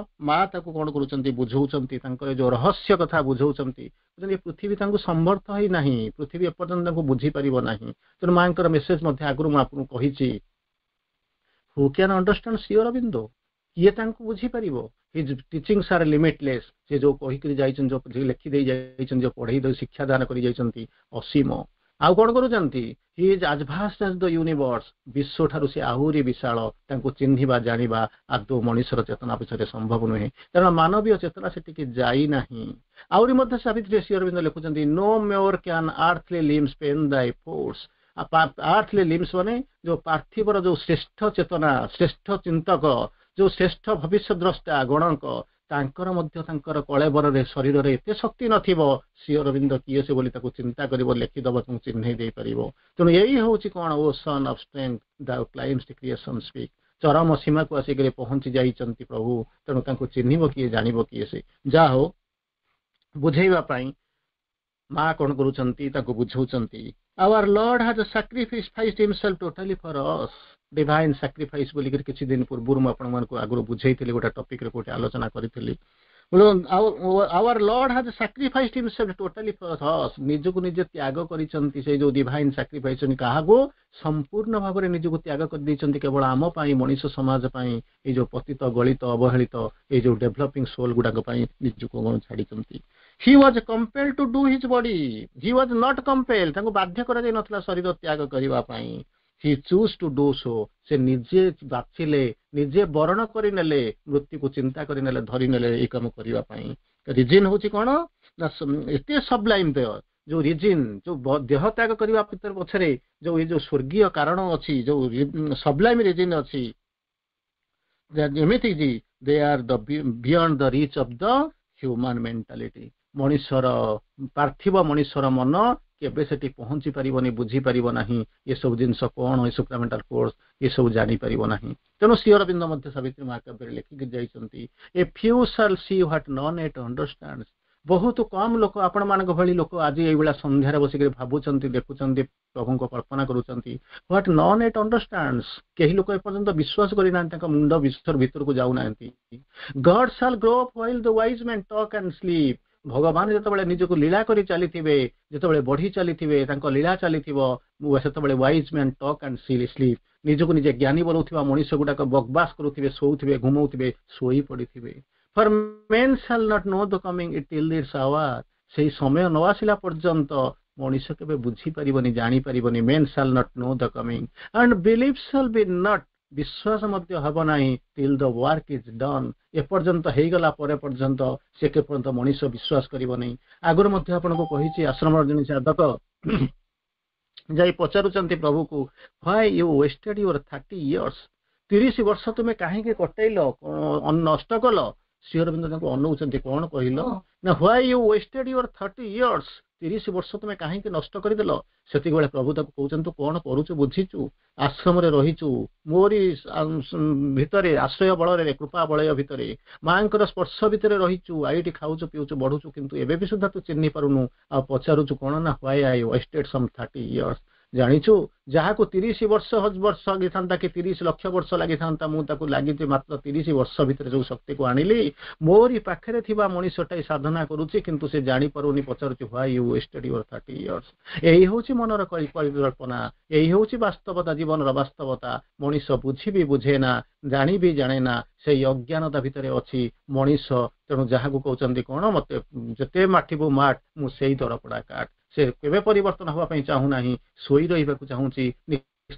ମା ତାକୁ କଣ କରୁଛନ୍ତି? ବୁଝଉଛନ୍ତି। ତାଙ୍କର ଯୋଉ ରହସ୍ୟ କଥା ବୁଝଉଛନ୍ତି। ପୃଥିବୀ ତାଙ୍କୁ ସମର୍ଥ ହେଇନାହିଁ, ପୃଥିବୀ ଏପର୍ଯ୍ୟନ୍ତ ତାଙ୍କୁ ବୁଝିପାରିବ ନାହିଁ। ତେଣୁ ମାଙ୍କର ମେସେଜ ମଧ୍ୟ ଆଗରୁ ମୁଁ ଆପଣଙ୍କୁ କହିଛି। Who can understand Sri Aurobindo? କିଏ ତାଙ୍କୁ ବୁଝିପାରିବ? His teachings are limitless. ସେ ଯୋଉ କହିକରି ଯାଇଛନ୍ତି, ଯୋଉ ଲେଖିଦେଇ ଯାଇଛନ୍ତି, ଯୋଉ ପଢେଇ ଦେଇ ଶିକ୍ଷାଦାନ କରି ଯାଇଛନ୍ତି, ଅସୀମ। ଆଉ କଣ କରୁଛନ୍ତି? He is as vast as the universe. ବିଶ୍ୱ ଠାରୁ ସେ ଆହୁରି ବିଶାଳ। ତାଙ୍କୁ ଚିହ୍ନିବା, ଜାଣିବା ଆଦୌ ମଣିଷର ଚେତନା ପଛରେ ସମ୍ଭବ ନୁହେଁ, କାରଣ ମାନବୀୟ ଚେତନା ସେଠିକି ଯାଇନାହିଁ। ଆହୁରି ମଧ୍ୟ ସାବିତ୍ରୀ ଶ୍ରୀ ଅରବିନ୍ଦ ଲେଖୁଛନ୍ତି, "No more can earthly limbs pen thy force." ଆର୍ଥଲି ଲିମ୍ସ ମାନେ ଯୋଉ ପାର୍ଥିବର ଯୋଉ ଶ୍ରେଷ୍ଠ ଚେତନା, ଶ୍ରେଷ୍ଠ ଚିନ୍ତକ, ଯୋଉ ଶ୍ରେଷ୍ଠ ଭବିଷ୍ୟ ଦ୍ରଷ୍ଟା ଗଣଙ୍କ, ତାଙ୍କର ମଧ୍ୟ ତାଙ୍କର କଳେବରରେ, ଶରୀରରେ ଏତେ ଶକ୍ତି ନଥିବ, ଶ୍ରୀ ଅରବିନ୍ଦ କିଏ ସେ ବୋଲି ତାକୁ ଚିନ୍ତା କରିବ, ଲେଖିଦବ, ତାଙ୍କୁ ଚିହ୍ନେଇ ଦେଇପାରିବ। ତେଣୁ ଏଇ ହଉଛି କଣ? O sun of strength, thou climb'st creation's peak. ଚରମ ସୀମାକୁ ଆସିକରି ପହଞ୍ଚି ଯାଇଛନ୍ତି ପ୍ରଭୁ। ତେଣୁ ତାଙ୍କୁ ଚିହ୍ନିବ କିଏ? ଜାଣିବ କିଏ ସେ? ଯାହା ହଉ, ବୁଝେଇବା ପାଇଁ ମା କଣ କରୁଛନ୍ତି? ତାକୁ ବୁଝଉଛନ୍ତି। Our Lord has sacrificed himself totally for us. Divine sacrifice ବୋଲିକରି କିଛି ଦିନ ପୂର୍ବରୁ ମୁଁ ଆପଣମାନଙ୍କୁ ଆଗରୁ ବୁଝେଇଥିଲି, ଗୋଟେ ଟପିକରେ କୋଉଠି ଆଲୋଚନା କରିଥିଲି। Our Lord has sacrificed himself totally for us. ନିଜକୁ ନିଜେ ତ୍ୟାଗ କରିଛନ୍ତି। ସେଇ ଯୋଉ ଡିଭାଇନ ସାକ୍ରିଫାଇସ୍, କାହାକୁ ସମ୍ପୂର୍ଣ୍ଣ ଭାବରେ ନିଜକୁ ତ୍ୟାଗ କରିଦେଇଛନ୍ତି କେବଳ ଆମ ପାଇଁ, ମଣିଷ ସମାଜ ପାଇଁ, ଏଇ ଯୋଉ ପତିତ, ଗଳିତ, ଅବହେଳିତ, ଏଇ ଯୋଉ ଡେଭଲପିଂ ସୋଲ ଗୁଡାକ ପାଇଁ ନିଜକୁ କଣ ଛାଡିଛନ୍ତି। He was compelled to do his body. He was not compelled. ତାଙ୍କୁ ବାଧ୍ୟ କରାଯାଇ ନଥିଲା ଶରୀର ତ୍ୟାଗ କରିବା ପାଇଁ। He chose to do so. ସେ ନିଜେ ବାଛିଲେ, ନିଜେ ବରଣ କରିନେଲେ, ମୃତ୍ୟୁକୁ ଚିନ୍ତା କରିନେଲେ, ଧରିନେଲେ ଏଇ କାମ କରିବା ପାଇଁ। ରିଜିନ୍ ହଉଛି କଣ ନା ଏତେ ସବଲାଇମ୍ ଦେହ ଯୋଉ ରିଜିନ୍, ଯୋଉ ଦେହ ତ୍ୟାଗ କରିବା ଭିତରେ ପଛରେ ଯୋଉ ଏଇ ଯୋଉ ସ୍ୱର୍ଗୀୟ କାରଣ ଅଛି, ଯୋଉ ସବଲାଇମ୍ ରିଜିନ୍ ଅଛି, ଏମିତି କି they are the beyond the reach of the human mentality. ମଣିଷର ପାର୍ଥିବ ମଣିଷର ମନ କେବେ ସେଠି ପହଞ୍ଚି ପାରିବନି, ବୁଝିପାରିବ ନାହିଁ ଏସବୁ ଜିନିଷ କଣ, ଏ ସୁପ୍ରାମେଣ୍ଟାଲ ଫୋର୍ସ ଏସବୁ ଜାଣିପାରିବ ନାହିଁ। ତେଣୁ ଶ୍ରୀ ଅରବିନ୍ଦ ମଧ୍ୟ ସାବିତ୍ରୀ ମହାକାବ୍ୟରେ ଲେଖିକି ଯାଇଛନ୍ତି, "A few shall see what none yet understand." ବହୁତ କମ ଲୋକ, ଆପଣମାନଙ୍କ ଭଳି ଲୋକ ଆଜି ଏଇଭଳିଆ ସନ୍ଧ୍ୟାରେ ବସିକରି ଭାବୁଛନ୍ତି, ଦେଖୁଛନ୍ତି, ପ୍ରଭୁଙ୍କ କଳ୍ପନା କରୁଛନ୍ତି। What none yet understands. କେହି ଲୋକ ଏପର୍ଯ୍ୟନ୍ତ ବିଶ୍ୱାସ କରିନାହାନ୍ତି, ତାଙ୍କ ମୁଣ୍ଡ ବିଶ୍ୱର ଭିତରକୁ ଯାଉନାହାନ୍ତି। God shall grow while the wise men talk and sleep. ଭଗବାନ ଯେତେବେଳେ ନିଜକୁ ଲୀଳା କରି ଚାଲିଥିବେ, ଯେତେବେଳେ ବଢି ଚାଲିଥିବେ, ତାଙ୍କ ଲୀଳା ଚାଲିଥିବ, ସେତେବେଳେ wise men talk and sleep. ନିଜକୁ ନିଜେ ଜ୍ଞାନୀ ବୋଲଉଥିବା ମଣିଷ ଗୁଡାକ ବକବାସ କରୁଥିବେ, ଶୋଉଥିବେ, ଘୁମଉଥିବେ, ଶୋଇ ପଡିଥିବେ। For men shall not know the coming till its hour. ସେଇ ସମୟ ନ ଆସିଲା ପର୍ଯ୍ୟନ୍ତ ମଣିଷ କେବେ ବୁଝିପାରିବନି, ଜାଣିପାରିବନି। Men shall not know the coming, and belief shall be not, ବିଶ୍ୱାସ ମଧ୍ୟ ହେବ ନାହିଁ, till the work is done. ଏପର୍ଯ୍ୟନ୍ତ ହେଇଗଲା ପରେ ପର୍ଯ୍ୟନ୍ତ ସେ ପର୍ଯ୍ୟନ୍ତ ମଣିଷ ବିଶ୍ୱାସ କରିବନି। ଆଗରୁ ମଧ୍ୟ ଆପଣଙ୍କୁ କହିଛି, ଆଶ୍ରମର ଜଣେ ସାଧକ ଯାଇ ପଚାରୁଛନ୍ତି ପ୍ରଭୁକୁ, "Why you wasted your 30 years?" 30 ବର୍ଷ ତୁମେ କାହିଁକି କଟେଇଲ, ନଷ୍ଟ କଲ? ଶ୍ରୀ ଅରବିନ୍ଦ ତାଙ୍କୁ ଅନଉଛନ୍ତି। କଣ କହିଲ ନା, "Why you wasted your 30 years?" 30 ବର୍ଷ ତୁମେ କାହିଁକି ନଷ୍ଟ କରିଦେଲ? ସେତିକିବେଳେ ପ୍ରଭୁ ତାକୁ କହୁଛନ୍ତି, ତୁ କଣ କରୁଛୁ ବୁଝିଛୁ? ଆଶ୍ରମରେ ରହିଛୁ, ମୋରି ଭିତରେ, ଆଶ୍ରୟ ବଳରେ, କୃପା ବଳୟ ଭିତରେ, ମାଙ୍କର ସ୍ପର୍ଶ ଭିତରେ ରହିଛୁ, ଏଇଠି ଖାଉଛୁ, ପିଉଛୁ, ବଢୁଛୁ, କିନ୍ତୁ ଏବେ ବି ସୁଦ୍ଧା ତୁ ଚିହ୍ନି ପାରୁନୁ ଆଉ ପଚାରୁଛୁ କଣ ନା, "Why I wasted some 30 years?" ଜାଣିଛୁ, ଯାହାକୁ 30 ବର୍ଷ ବର୍ଷ ଲାଗିଥାନ୍ତା କି 30 ଲକ୍ଷ ବର୍ଷ ଲାଗିଥାନ୍ତା, ମୁଁ ତାକୁ ଲାଗିଛି ମାତ୍ର 30 ବର୍ଷ ଭିତରେ ଯୋଉ ଶକ୍ତିକୁ ଆଣିଲି। ମୋରି ପାଖରେ ଥିବା ମଣିଷଟା ସାଧନା କରୁଛି, କିନ୍ତୁ ସେ ଜାଣିପାରୁନି, ପଚାରୁଛି, "Why you wasted your 30 years?" ଏଇ ହଉଛି ମନର ପରିକଳ୍ପନା, ଏଇ ହଉଛି ବାସ୍ତବତା, ଜୀବନର ବାସ୍ତବତା। ମଣିଷ ବୁଝି ବି ବୁଝେ ନା, ଜାଣି ବି ଜାଣେ ନା, ସେଇ ଅଜ୍ଞାନତା ଭିତରେ ଅଛି ମଣିଷ। ତେଣୁ ଯାହାକୁ କହୁଛନ୍ତି କଣ, ମତେ ଯେତେ ମାଠିବୁ ମାଠ, ମୁଁ ସେଇ ଦରପୋଡା କାଠ। ସେ କେବେ ପରିବର୍ତ୍ତନ ହେବା ପାଇଁ ଚାହୁଁନାହିଁ, ଶୋଇ ରହିବାକୁ ଚାହୁଁଛି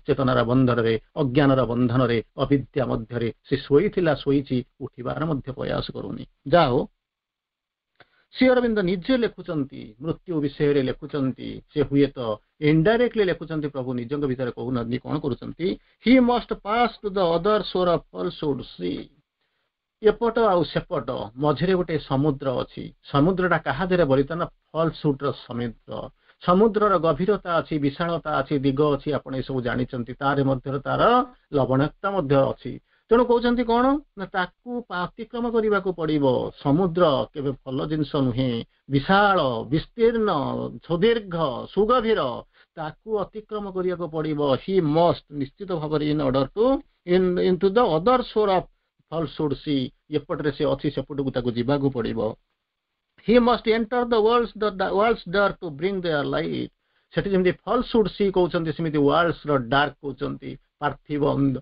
ଚେତନାର ବନ୍ଧନରେ, ଅଜ୍ଞାନର ବନ୍ଧନରେ, ଅବିଦ୍ୟା ମଧ୍ୟରେ ସେ ଶୋଇଥିଲା, ଶୋଇଛି, ଉଠିବାର ମଧ୍ୟ ପ୍ରୟାସ କରୁନି। ଯାଉ, ଶ୍ରୀ ଅରବିନ୍ଦ ନିଜେ ଲେଖୁଛନ୍ତି, ମୃତ୍ୟୁ ବିଷୟରେ ଲେଖୁଛନ୍ତି। ସେ ହୁଏତ ଇନଡାଇରେକ୍ଟଲି ଲେଖୁଛନ୍ତି, ପ୍ରଭୁ ନିଜଙ୍କ ଭିତରେ କହୁନାହାନ୍ତି। କଣ କରୁଛନ୍ତି? "He must pass to the other shore of falsehood's sea." ଏପଟ ଆଉ ସେପଟ ମଝିରେ ଗୋଟେ ସମୁଦ୍ର ଅଛି। ସମୁଦ୍ରଟା କାହା ଦେହରେ ବଳିତ ନା ଫଲସହୁଡର ସମୁଦ୍ର। ସମୁଦ୍ରର ଗଭୀରତା ଅଛି, ବିଶାଳତା ଅଛି, ଦିଗ ଅଛି, ଆପଣ ଏସବୁ ଜାଣିଛନ୍ତି। ତାର ମଧ୍ୟରେ ତାର ଲବଣାକ୍ତତା ମଧ୍ୟ ଅଛି। ତେଣୁ କହୁଛନ୍ତି କଣ ନା, ତାକୁ ଅତିକ୍ରମ କରିବାକୁ ପଡିବ। ସମୁଦ୍ର କେବେ ଭଲ ଜିନିଷ ନୁହେଁ। ବିଶାଳ, ବିସ୍ତୀର୍ଣ୍ଣ, ସୁଦୀର୍ଘ, ସୁଗଭୀର, ତାକୁ ଅତିକ୍ରମ କରିବାକୁ ପଡିବ। ହି ମଷ୍ଟ, ନିଶ୍ଚିତ ଭାବରେ, in order to in to the other shore of falsehood sea. ଏପଟରେ ସେ ଅଛି, ସେପଟକୁ ତାକୁ ଯିବାକୁ ପଡିବ। "He must enter the world's dark to bring their light." ସେଠି ଯେମିତି ଫଲସହୁଡ ସି କହୁଛନ୍ତି, ସେମିତି ୱାର୍ଲଡସ ର ଡାର୍କ କହୁଛନ୍ତି। ପାର୍ଥିବ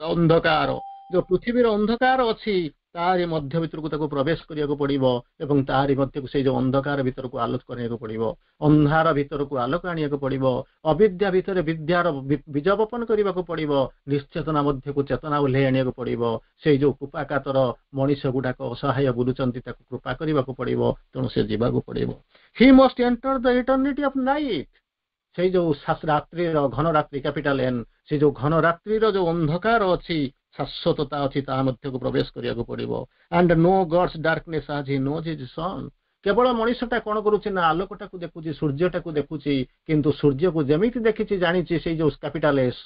ଅନ୍ଧକାର, ଯୋଉ ପୃଥିବୀର ଅନ୍ଧକାର ଅଛି, ତାରି ମଧ୍ୟ ଭିତରକୁ ତାକୁ ପ୍ରବେଶ କରିବାକୁ ପଡିବ ଏବଂ ତାରି ମଧ୍ୟକୁ, ସେଇ ଯୋଉ ଅନ୍ଧକାର ଭିତରକୁ ଆଲୋକ କରିବାକୁ ପଡିବ, ଅନ୍ଧାର ଭିତରକୁ ଆଲୋକ ଆଣିବାକୁ ପଡିବ, ଅବିଦ୍ୟା ଭିତରେ ବିଦ୍ୟାର ବୀଜ ବପନ କରିବାକୁ ପଡିବ, ନିଶ୍ଚେତନା ମଧ୍ୟକୁ ଚେତନା ଓହ୍ଲେଇ ଆଣିବାକୁ ପଡିବ। ସେଇ ଯୋଉ କୃପାକାତର ମଣିଷ ଗୁଡାକ ଅସହାୟ ବୁଲୁଛନ୍ତି, ତାକୁ କୃପା କରିବାକୁ ପଡିବ। ତେଣୁ ସେ ଯିବାକୁ ପଡିବ। "He must enter the eternity of night." ସେଇ ଯୋଉ ରାତ୍ରିର ଘନ ରାତ୍ରି, କ୍ୟାପିଟାଲ ଏନ୍, ସେ ଯୋଉ ଘନ ରାତ୍ରିର ଯୋଉ ଅନ୍ଧକାର ଅଛି, ଶାଶ୍ୱତତା ଅଛି, ତା ମଧ୍ୟକୁ ପ୍ରବେଶ କରିବାକୁ ପଡିବ। "And know God's darkness as he knows his sun." କେବଳ ମଣିଷଟା କଣ କରୁଛି ନା, ଆଲୋକଟାକୁ ଦେଖୁଛି, ସୂର୍ଯ୍ୟଟାକୁ ଦେଖୁଛି, କିନ୍ତୁ ସୂର୍ଯ୍ୟକୁ ଯେମିତି ଦେଖିଛି, ଜାଣିଛି, ସେଇ ଯୋଉ କ୍ୟାପିଟାଲ ଏସ୍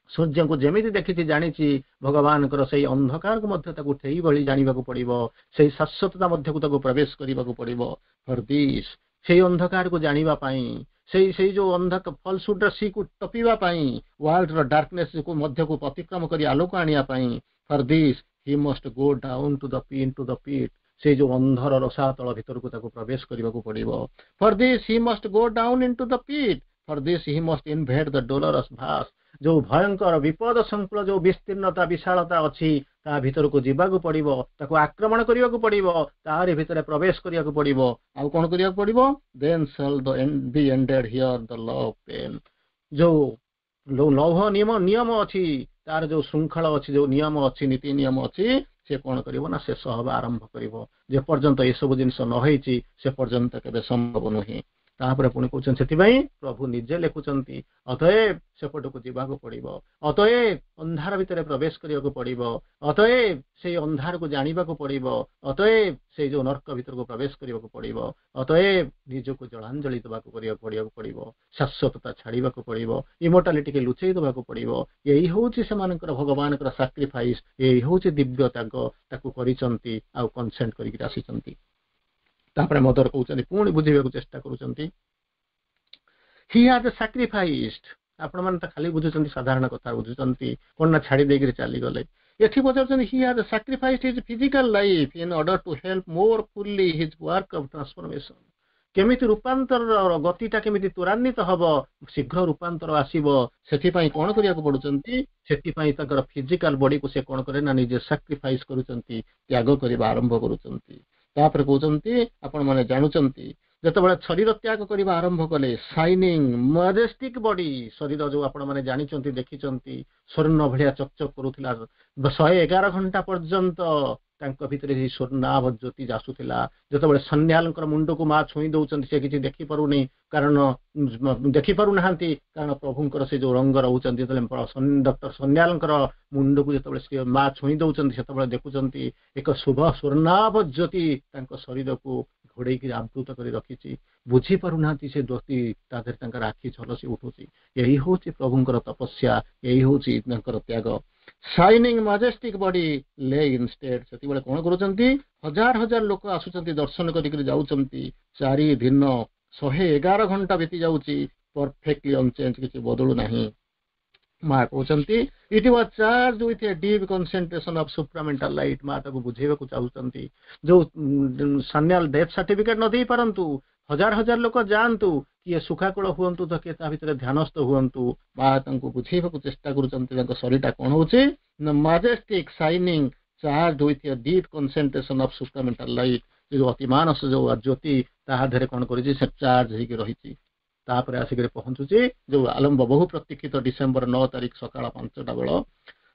ସୂର୍ଯ୍ୟଙ୍କୁ ଯେମିତି ଦେଖିଛି, ଜାଣିଛି, ଭଗବାନଙ୍କର ସେଇ ଅନ୍ଧକାରକୁ ମଧ୍ୟ ତାକୁ ସେଇଭଳି ଜାଣିବାକୁ ପଡିବ। ସେଇ ଶାଶ୍ୱତତା ମଧ୍ୟକୁ ତାକୁ ପ୍ରବେଶ କରିବାକୁ ପଡିବ। ଫର this, ସେଇ ଅନ୍ଧକାରକୁ ଜାଣିବା ପାଇଁ, ସେଇ ଯୋଉ ଅନ୍ଧ ଫଲସହୁଡର ସିକୁ ଟପିବା ପାଇଁ, ୱାର୍ଲଡର ଡାର୍କନେସ୍ ମଧ୍ୟକୁ ଅତିକ୍ରମ କରି ଆଲୋକ ଆଣିବା ପାଇଁ, "For this he must go down to the pit." ସେଇ ଯୋଉ ଅନ୍ଧର ରସାତଳ ଭିତରକୁ ତାକୁ ପ୍ରବେଶ କରିବାକୁ ପଡିବ। "For this he must go down into the pit. For this he must invade the dolorous vast." ଯୋଉ ଭୟଙ୍କର ବିପଦ ସଂକୁଳ ଯୋଉ ବିସ୍ତୀର୍ଣ୍ଣତା, ବିଶାଳତା ଅଛି, ତା ଭିତରକୁ ଯିବାକୁ ପଡିବ, ତାକୁ ଆକ୍ରମଣ କରିବାକୁ ପଡିବ, ତାରି ଭିତରେ ପ୍ରବେଶ କରିବାକୁ ପଡିବ। ଆଉ କଣ କରିବାକୁ ପଡିବ? "Then shall the be ended here the law of pain." ଯୋଉ ଲୌହ ନିୟମ ଅଛି, ତାର ଯୋଉ ଶୃଙ୍ଖଳ ଅଛି, ଯୋଉ ନିୟମ ଅଛି, ନୀତି ନିୟମ ଅଛି, ସେ କଣ କରିବ ନା, ଶେଷ ହବା ଆରମ୍ଭ କରିବ। ଯେପର୍ଯ୍ୟନ୍ତ ଏସବୁ ଜିନିଷ ନ ହେଇଛି, ସେ ପର୍ଯ୍ୟନ୍ତ କେବେ ସମ୍ଭବ ନୁହେଁ। ତାପରେ ପୁଣି କହୁଛନ୍ତି, ସେଥିପାଇଁ ପ୍ରଭୁ ନିଜେ ଲେଖୁଛନ୍ତି, ଅତଏବ ସେପଟକୁ ଯିବାକୁ ପଡିବ, ଅତଏବ ଅନ୍ଧାର ଭିତରେ ପ୍ରବେଶ କରିବାକୁ ପଡିବ, ଅତଏବ ସେଇ ଅନ୍ଧାରକୁ ଜାଣିବାକୁ ପଡିବ, ଅତଏବ ସେଇ ଯୋଉ ନର୍କ ଭିତରକୁ ପ୍ରବେଶ କରିବାକୁ ପଡିବ, ଅତଏବ ନିଜକୁ ଜଳାଞ୍ଜଳି ଦେବାକୁ କରିବାକୁ ପଡିବ, ଶାଶ୍ୱତତା ଛାଡିବାକୁ ପଡିବ, ଇମୋର୍ଟାଲିଟିକି ଲୁଚେଇ ଦେବାକୁ ପଡିବ। ଏଇ ହଉଛି ସେମାନଙ୍କର ଭଗବାନଙ୍କର ସାକ୍ରିଫାଇସ୍, ଏଇ ହଉଛି ଦିବ୍ୟ ତ୍ୟାଗ। ତାକୁ କରିଛନ୍ତି ଆଉ କନସେଣ୍ଟ କରିକି ଆସିଛନ୍ତି। ତାପରେ ମଦର କହୁଛନ୍ତି, ପୁଣି ବୁଝେଇବାକୁ ଚେଷ୍ଟା କରୁଛନ୍ତି, "He has sacrificed." ଆପଣମାନେ ତ ଖାଲି ବୁଝୁଛନ୍ତି, ସାଧାରଣ କଥା ବୁଝୁଛନ୍ତି। କଣ ନା, ଛାଡି ଦେଇକିରି ଚାଲିଗଲେ। ଏଠି ପଚାରୁଛନ୍ତି, "He has sacrificed his physical life in order to help more fully his work of transformation." କେମିତି ରୂପାନ୍ତରର ଗତିଟା କେମିତି ତ୍ୱରାନ୍ୱିତ ହବ, ଶୀଘ୍ର ରୂପାନ୍ତର ଆସିବ, ସେଥିପାଇଁ କଣ କରିବାକୁ ପଡୁଛନ୍ତି? ସେଥିପାଇଁ ତାଙ୍କର ଫିଜିକାଲ ବଡିକୁ ସେ କଣ କରେ ନା, ନିଜେ ସାକ୍ରିଫାଇସ୍ କରୁଛନ୍ତି, ତ୍ୟାଗ କରିବା ଆରମ୍ଭ କରୁଛନ୍ତି। ତାପରେ କହୁଛନ୍ତି, ଆପଣମାନେ ଜାଣୁଛନ୍ତି ଯେତେବେଳେ ଶରୀର ତ୍ୟାଗ କରିବା ଆରମ୍ଭ କଲେ, ସାଇନିଂ ମାଜେଷ୍ଟିକ ବଡି, ଶରୀର ଯୋଉ ଆପଣମାନେ ଜାଣିଛନ୍ତି, ଦେଖିଛନ୍ତି, ସ୍ୱର୍ଣ୍ଣ ଭଳିଆ ଚକଚକ କରୁଥିଲା। 111 ଘଣ୍ଟା ପର୍ଯ୍ୟନ୍ତ ତାଙ୍କ ଭିତରେ ସେଇ ସ୍ୱର୍ଣ୍ଣାଭ ଜ୍ୟୋତି ଆସୁଥିଲା। ଯେତେବେଳେ ସନ୍ୟାଲଙ୍କର ମୁଣ୍ଡକୁ ମା ଛୁଇଁ ଦଉଛନ୍ତି, ସେ କିଛି ଦେଖିପାରୁନି, କାରଣ ଦେଖିପାରୁନାହାନ୍ତି, କାରଣ ପ୍ରଭୁଙ୍କର ସେ ଯୋଉ ରଙ୍ଗ ରହୁଛନ୍ତି। ଯେତେବେଳେ ଡକ୍ଟର ସନ୍ୟାଲଙ୍କର ମୁଣ୍ଡକୁ ଯେତେବେଳେ ସେ ମା ଛୁଇଁ ଦଉଛନ୍ତି, ସେତେବେଳେ ଦେଖୁଛନ୍ତି ଏକ ଶୁଭ ସ୍ୱର୍ଣ୍ଣାଭ ଜ୍ୟୋତି ତାଙ୍କ ଶରୀରକୁ ଘୋଡେଇକି ଆବୃତ କରି ରଖିଛି। ବୁଝିପାରୁନାହାନ୍ତି ସେ ଜ୍ୟୋତି, ତା ଦେହରେ ତାଙ୍କର ଆଖି ଝଲସି ଉଠୁଛି। ଏଇ ହଉଛି ପ୍ରଭୁଙ୍କର ତପସ୍ୟା, ଏଇ ହଉଛି ତାଙ୍କର ତ୍ୟାଗ। Shining majestic body lay in state। ସେତିବେଳେ କଣ କରୁଛନ୍ତି? ହଜାର ହଜାର ଲୋକ ଆସୁଛନ୍ତି, ଦର୍ଶନ କରିକି ଯାଉଛନ୍ତି। 4 ଦିନ 111 ଘଣ୍ଟା ବିତି ଯାଉଛି, ପରଫେକ୍ଟଲି ଅନଚେଞ୍ଜ, କିଛି ବଦଳୁ ନାହିଁ। ମା କହୁଛନ୍ତି, "It was charged with a deep concentration of supramental light." ମା ତାକୁ ବୁଝେଇବାକୁ ଚାହୁଁଛନ୍ତି, ଯୋଉ ସାନ୍ୟାଲ ଡେଥ୍ ସାର୍ଟିଫିକେଟ ନ ଦେଇ ପାରନ୍ତୁ, ହଜାର ହଜାର ଲୋକ ଯାଆନ୍ତୁ, କିଏ ଶୋକାକୁଳ ହୁଅନ୍ତୁ ତ କିଏ ତା ଭିତରେ ଧ୍ୟାନସ୍ଥ ହୁଅନ୍ତୁ, ମା ତାଙ୍କୁ ବୁଝେଇବାକୁ ଚେଷ୍ଟା କରୁଛନ୍ତି ତାଙ୍କ ଶରୀରଟା କଣ ହଉଛି ନା majestic, shining, charged with a deep concentration of supramental light। ଯୋଉ ଅତିମାନସ ଯୋଉ ଜ୍ୟୋତି, ତାହା ଦେହରେ କଣ କରିଛି? ସେ ଚାର୍ଜ ହେଇକି ରହିଛି। ତାପରେ ଆସିକରି ପହଞ୍ଚୁଛି ଯୋଉ ଆଲମ୍ବ ବହୁ ପ୍ରତୀକ୍ଷିତ ଡିସେମ୍ବର 9 ତାରିଖ ସକାଳ 5ଟା ବେଳ।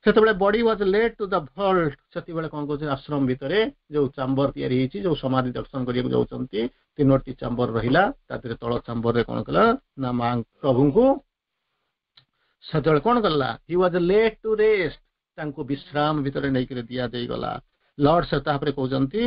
ସେତେବେଳେ body was led to the vault। ସେତେବେଳେ କଣ କହୁଛି, ଆଶ୍ରମ ଭିତରେ ଯୋଉ ଚାମ୍ବର ତିଆରି ହେଇଛି, ଯୋଉ ସମାଧି ଦର୍ଶନ କରିବାକୁ ଯାଉଛନ୍ତି, ତିନୋଟି ଚାମ୍ବର ରହିଲା। ତା ଦେହରେ ତଳ ଚାମ୍ବରରେ କଣ କଲା ନା ମା ପ୍ରଭୁଙ୍କୁ ସେତେବେଳେ କଣ କଲା? He was laid to rest। ତାଙ୍କୁ ବିଶ୍ରାମ ଭିତରେ ନେଇକରି ଦିଆଯାଇଗଲା। ଲର୍ଡ ସେ ତାପରେ କହୁଛନ୍ତି,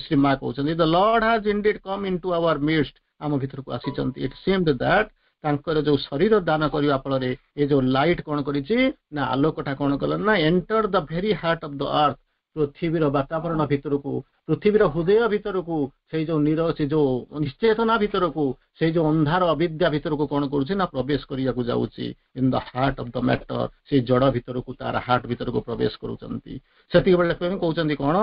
ଶ୍ରୀମା କହୁଛନ୍ତି, "The Lord has indeed come into our midst." ଆମ ଭିତରକୁ ଆସିଛନ୍ତି। ଇଟ୍ ସିମ୍ଡ that, ତାଙ୍କର ଯୋଉ ଶରୀର ଦାନ କରିବା ଫଳରେ ଏ ଯୋଉ ଲାଇଟ୍ କଣ କରିଛି ନା ଆଲୋକଟା କଣ କଲା ନା enter the very heart of the earth। ପୃଥିବୀର ବାତାବରଣ ଭିତରକୁ, ପୃଥିବୀର ହୃଦୟ ଭିତରକୁ, ସେଇ ଯୋଉ ନିର ସେ ଯୋଉ ନିଶ୍ଚେତନା ଭିତରକୁ, ସେଇ ଯୋଉ ଅନ୍ଧାର ଅବିଦ୍ୟା ଭିତରକୁ କଣ କରୁଛି ନା ପ୍ରବେଶ କରିବାକୁ ଯାଉଛି। In the heart of the matter, ସେଇ ଜଡ ଭିତରକୁ, ତାର ହାର୍ଟ ଭିତରକୁ ପ୍ରବେଶ କରୁଛନ୍ତି। ସେତିକି ବେଳେ କହୁଛନ୍ତି କଣ?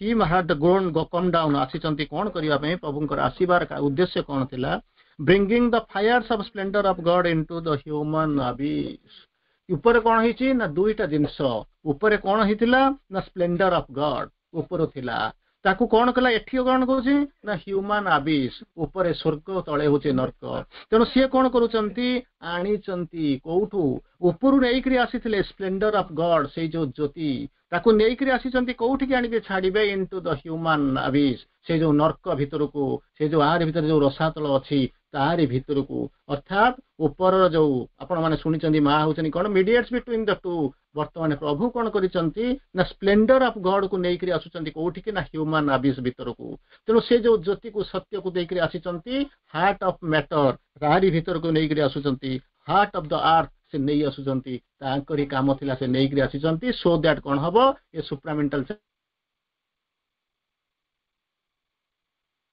He had grown come down। ଆସିଛନ୍ତି କଣ କରିବା ପାଇଁ? ପ୍ରଭୁଙ୍କର ଆସିବାର ଉଦ୍ଦେଶ୍ୟ କଣ ଥିଲା? Bringing the fires of splendour of God into the human abyss। ଉପରେ କଣ ହେଇଛି ନା ଦୁଇଟା ଜିନିଷ। ଉପରେ କଣ ହେଇଥିଲା ନା ସ୍ପ୍ଲେଣ୍ଡର ଅଫ ଗଡ୍ ଉପରୁ ଥିଲା। ତାକୁ କଣ କଲା? ଏଠି କଣ କହୁଛି ନା ହ୍ୟୁମାନ ଆବିସ୍। ଉପରେ ସ୍ୱର୍ଗ, ତଳେ ହଉଛି ନର୍କ। ତେଣୁ ସିଏ କଣ କରୁଛନ୍ତି? ଆଣିଛନ୍ତି କୋଉଠୁ? ଉପରୁ ନେଇକରି ଆସିଥିଲେ ସ୍ପ୍ଲେଣ୍ଡର ଅଫ ଗଡ୍, ସେଇ ଯୋଉ ଜ୍ୟୋତି, ତାକୁ ନେଇକରି ଆସିଛନ୍ତି। କୋଉଠିକି ଆଣିକି ଛାଡିବେ? ଇନଟୁ ଦ ହ୍ୟୁମାନ ଆବିସ୍, ସେ ଯୋଉ ନର୍କ ଭିତରକୁ, ସେ ଯୋଉ ଆରି ଭିତରେ ଯୋଉ ରସାତଳ ଅଛି, ତାରି ଭିତରକୁ। ଅର୍ଥାତ୍ ଉପରର ଯୋଉ ଆପଣମାନେ ଶୁଣିଛନ୍ତି, ମା ହଉଛନ୍ତି କଣ? ମିଡିଏଟ୍ସ ବିଟୁଇନ୍ the two. ବର୍ତ୍ତମାନ ପ୍ରଭୁ କଣ କରିଛନ୍ତି ନା ସ୍ପ୍ଲେଣ୍ଡର ଅଫ ଗଡ୍ କୁ ନେଇକରି ଆସୁଛନ୍ତି କୋଉଠିକି ନା ହ୍ୟୁମାନ ଆବିସ୍ ଭିତରକୁ। ତେଣୁ ସେ ଯୋଉ ଜ୍ୟୋତିକୁ, ସତ୍ୟକୁ ଦେଇକରି ଆସିଛନ୍ତି ହାର୍ଟ ଅଫ ମ୍ୟାଟର, ତାରି ଭିତରକୁ ନେଇକରି ଆସୁଛନ୍ତି। ହାର୍ଟ ଅଫ the earth ସେ ନେଇ ଆସୁଛନ୍ତି। ତାଙ୍କରି କାମ ଥିଲା, ସେ ନେଇକରି ଆସିଛନ୍ତି। ସୋ that କଣ ହବ? ଏ ସୁପ୍ରାମେଣ୍ଟାଲ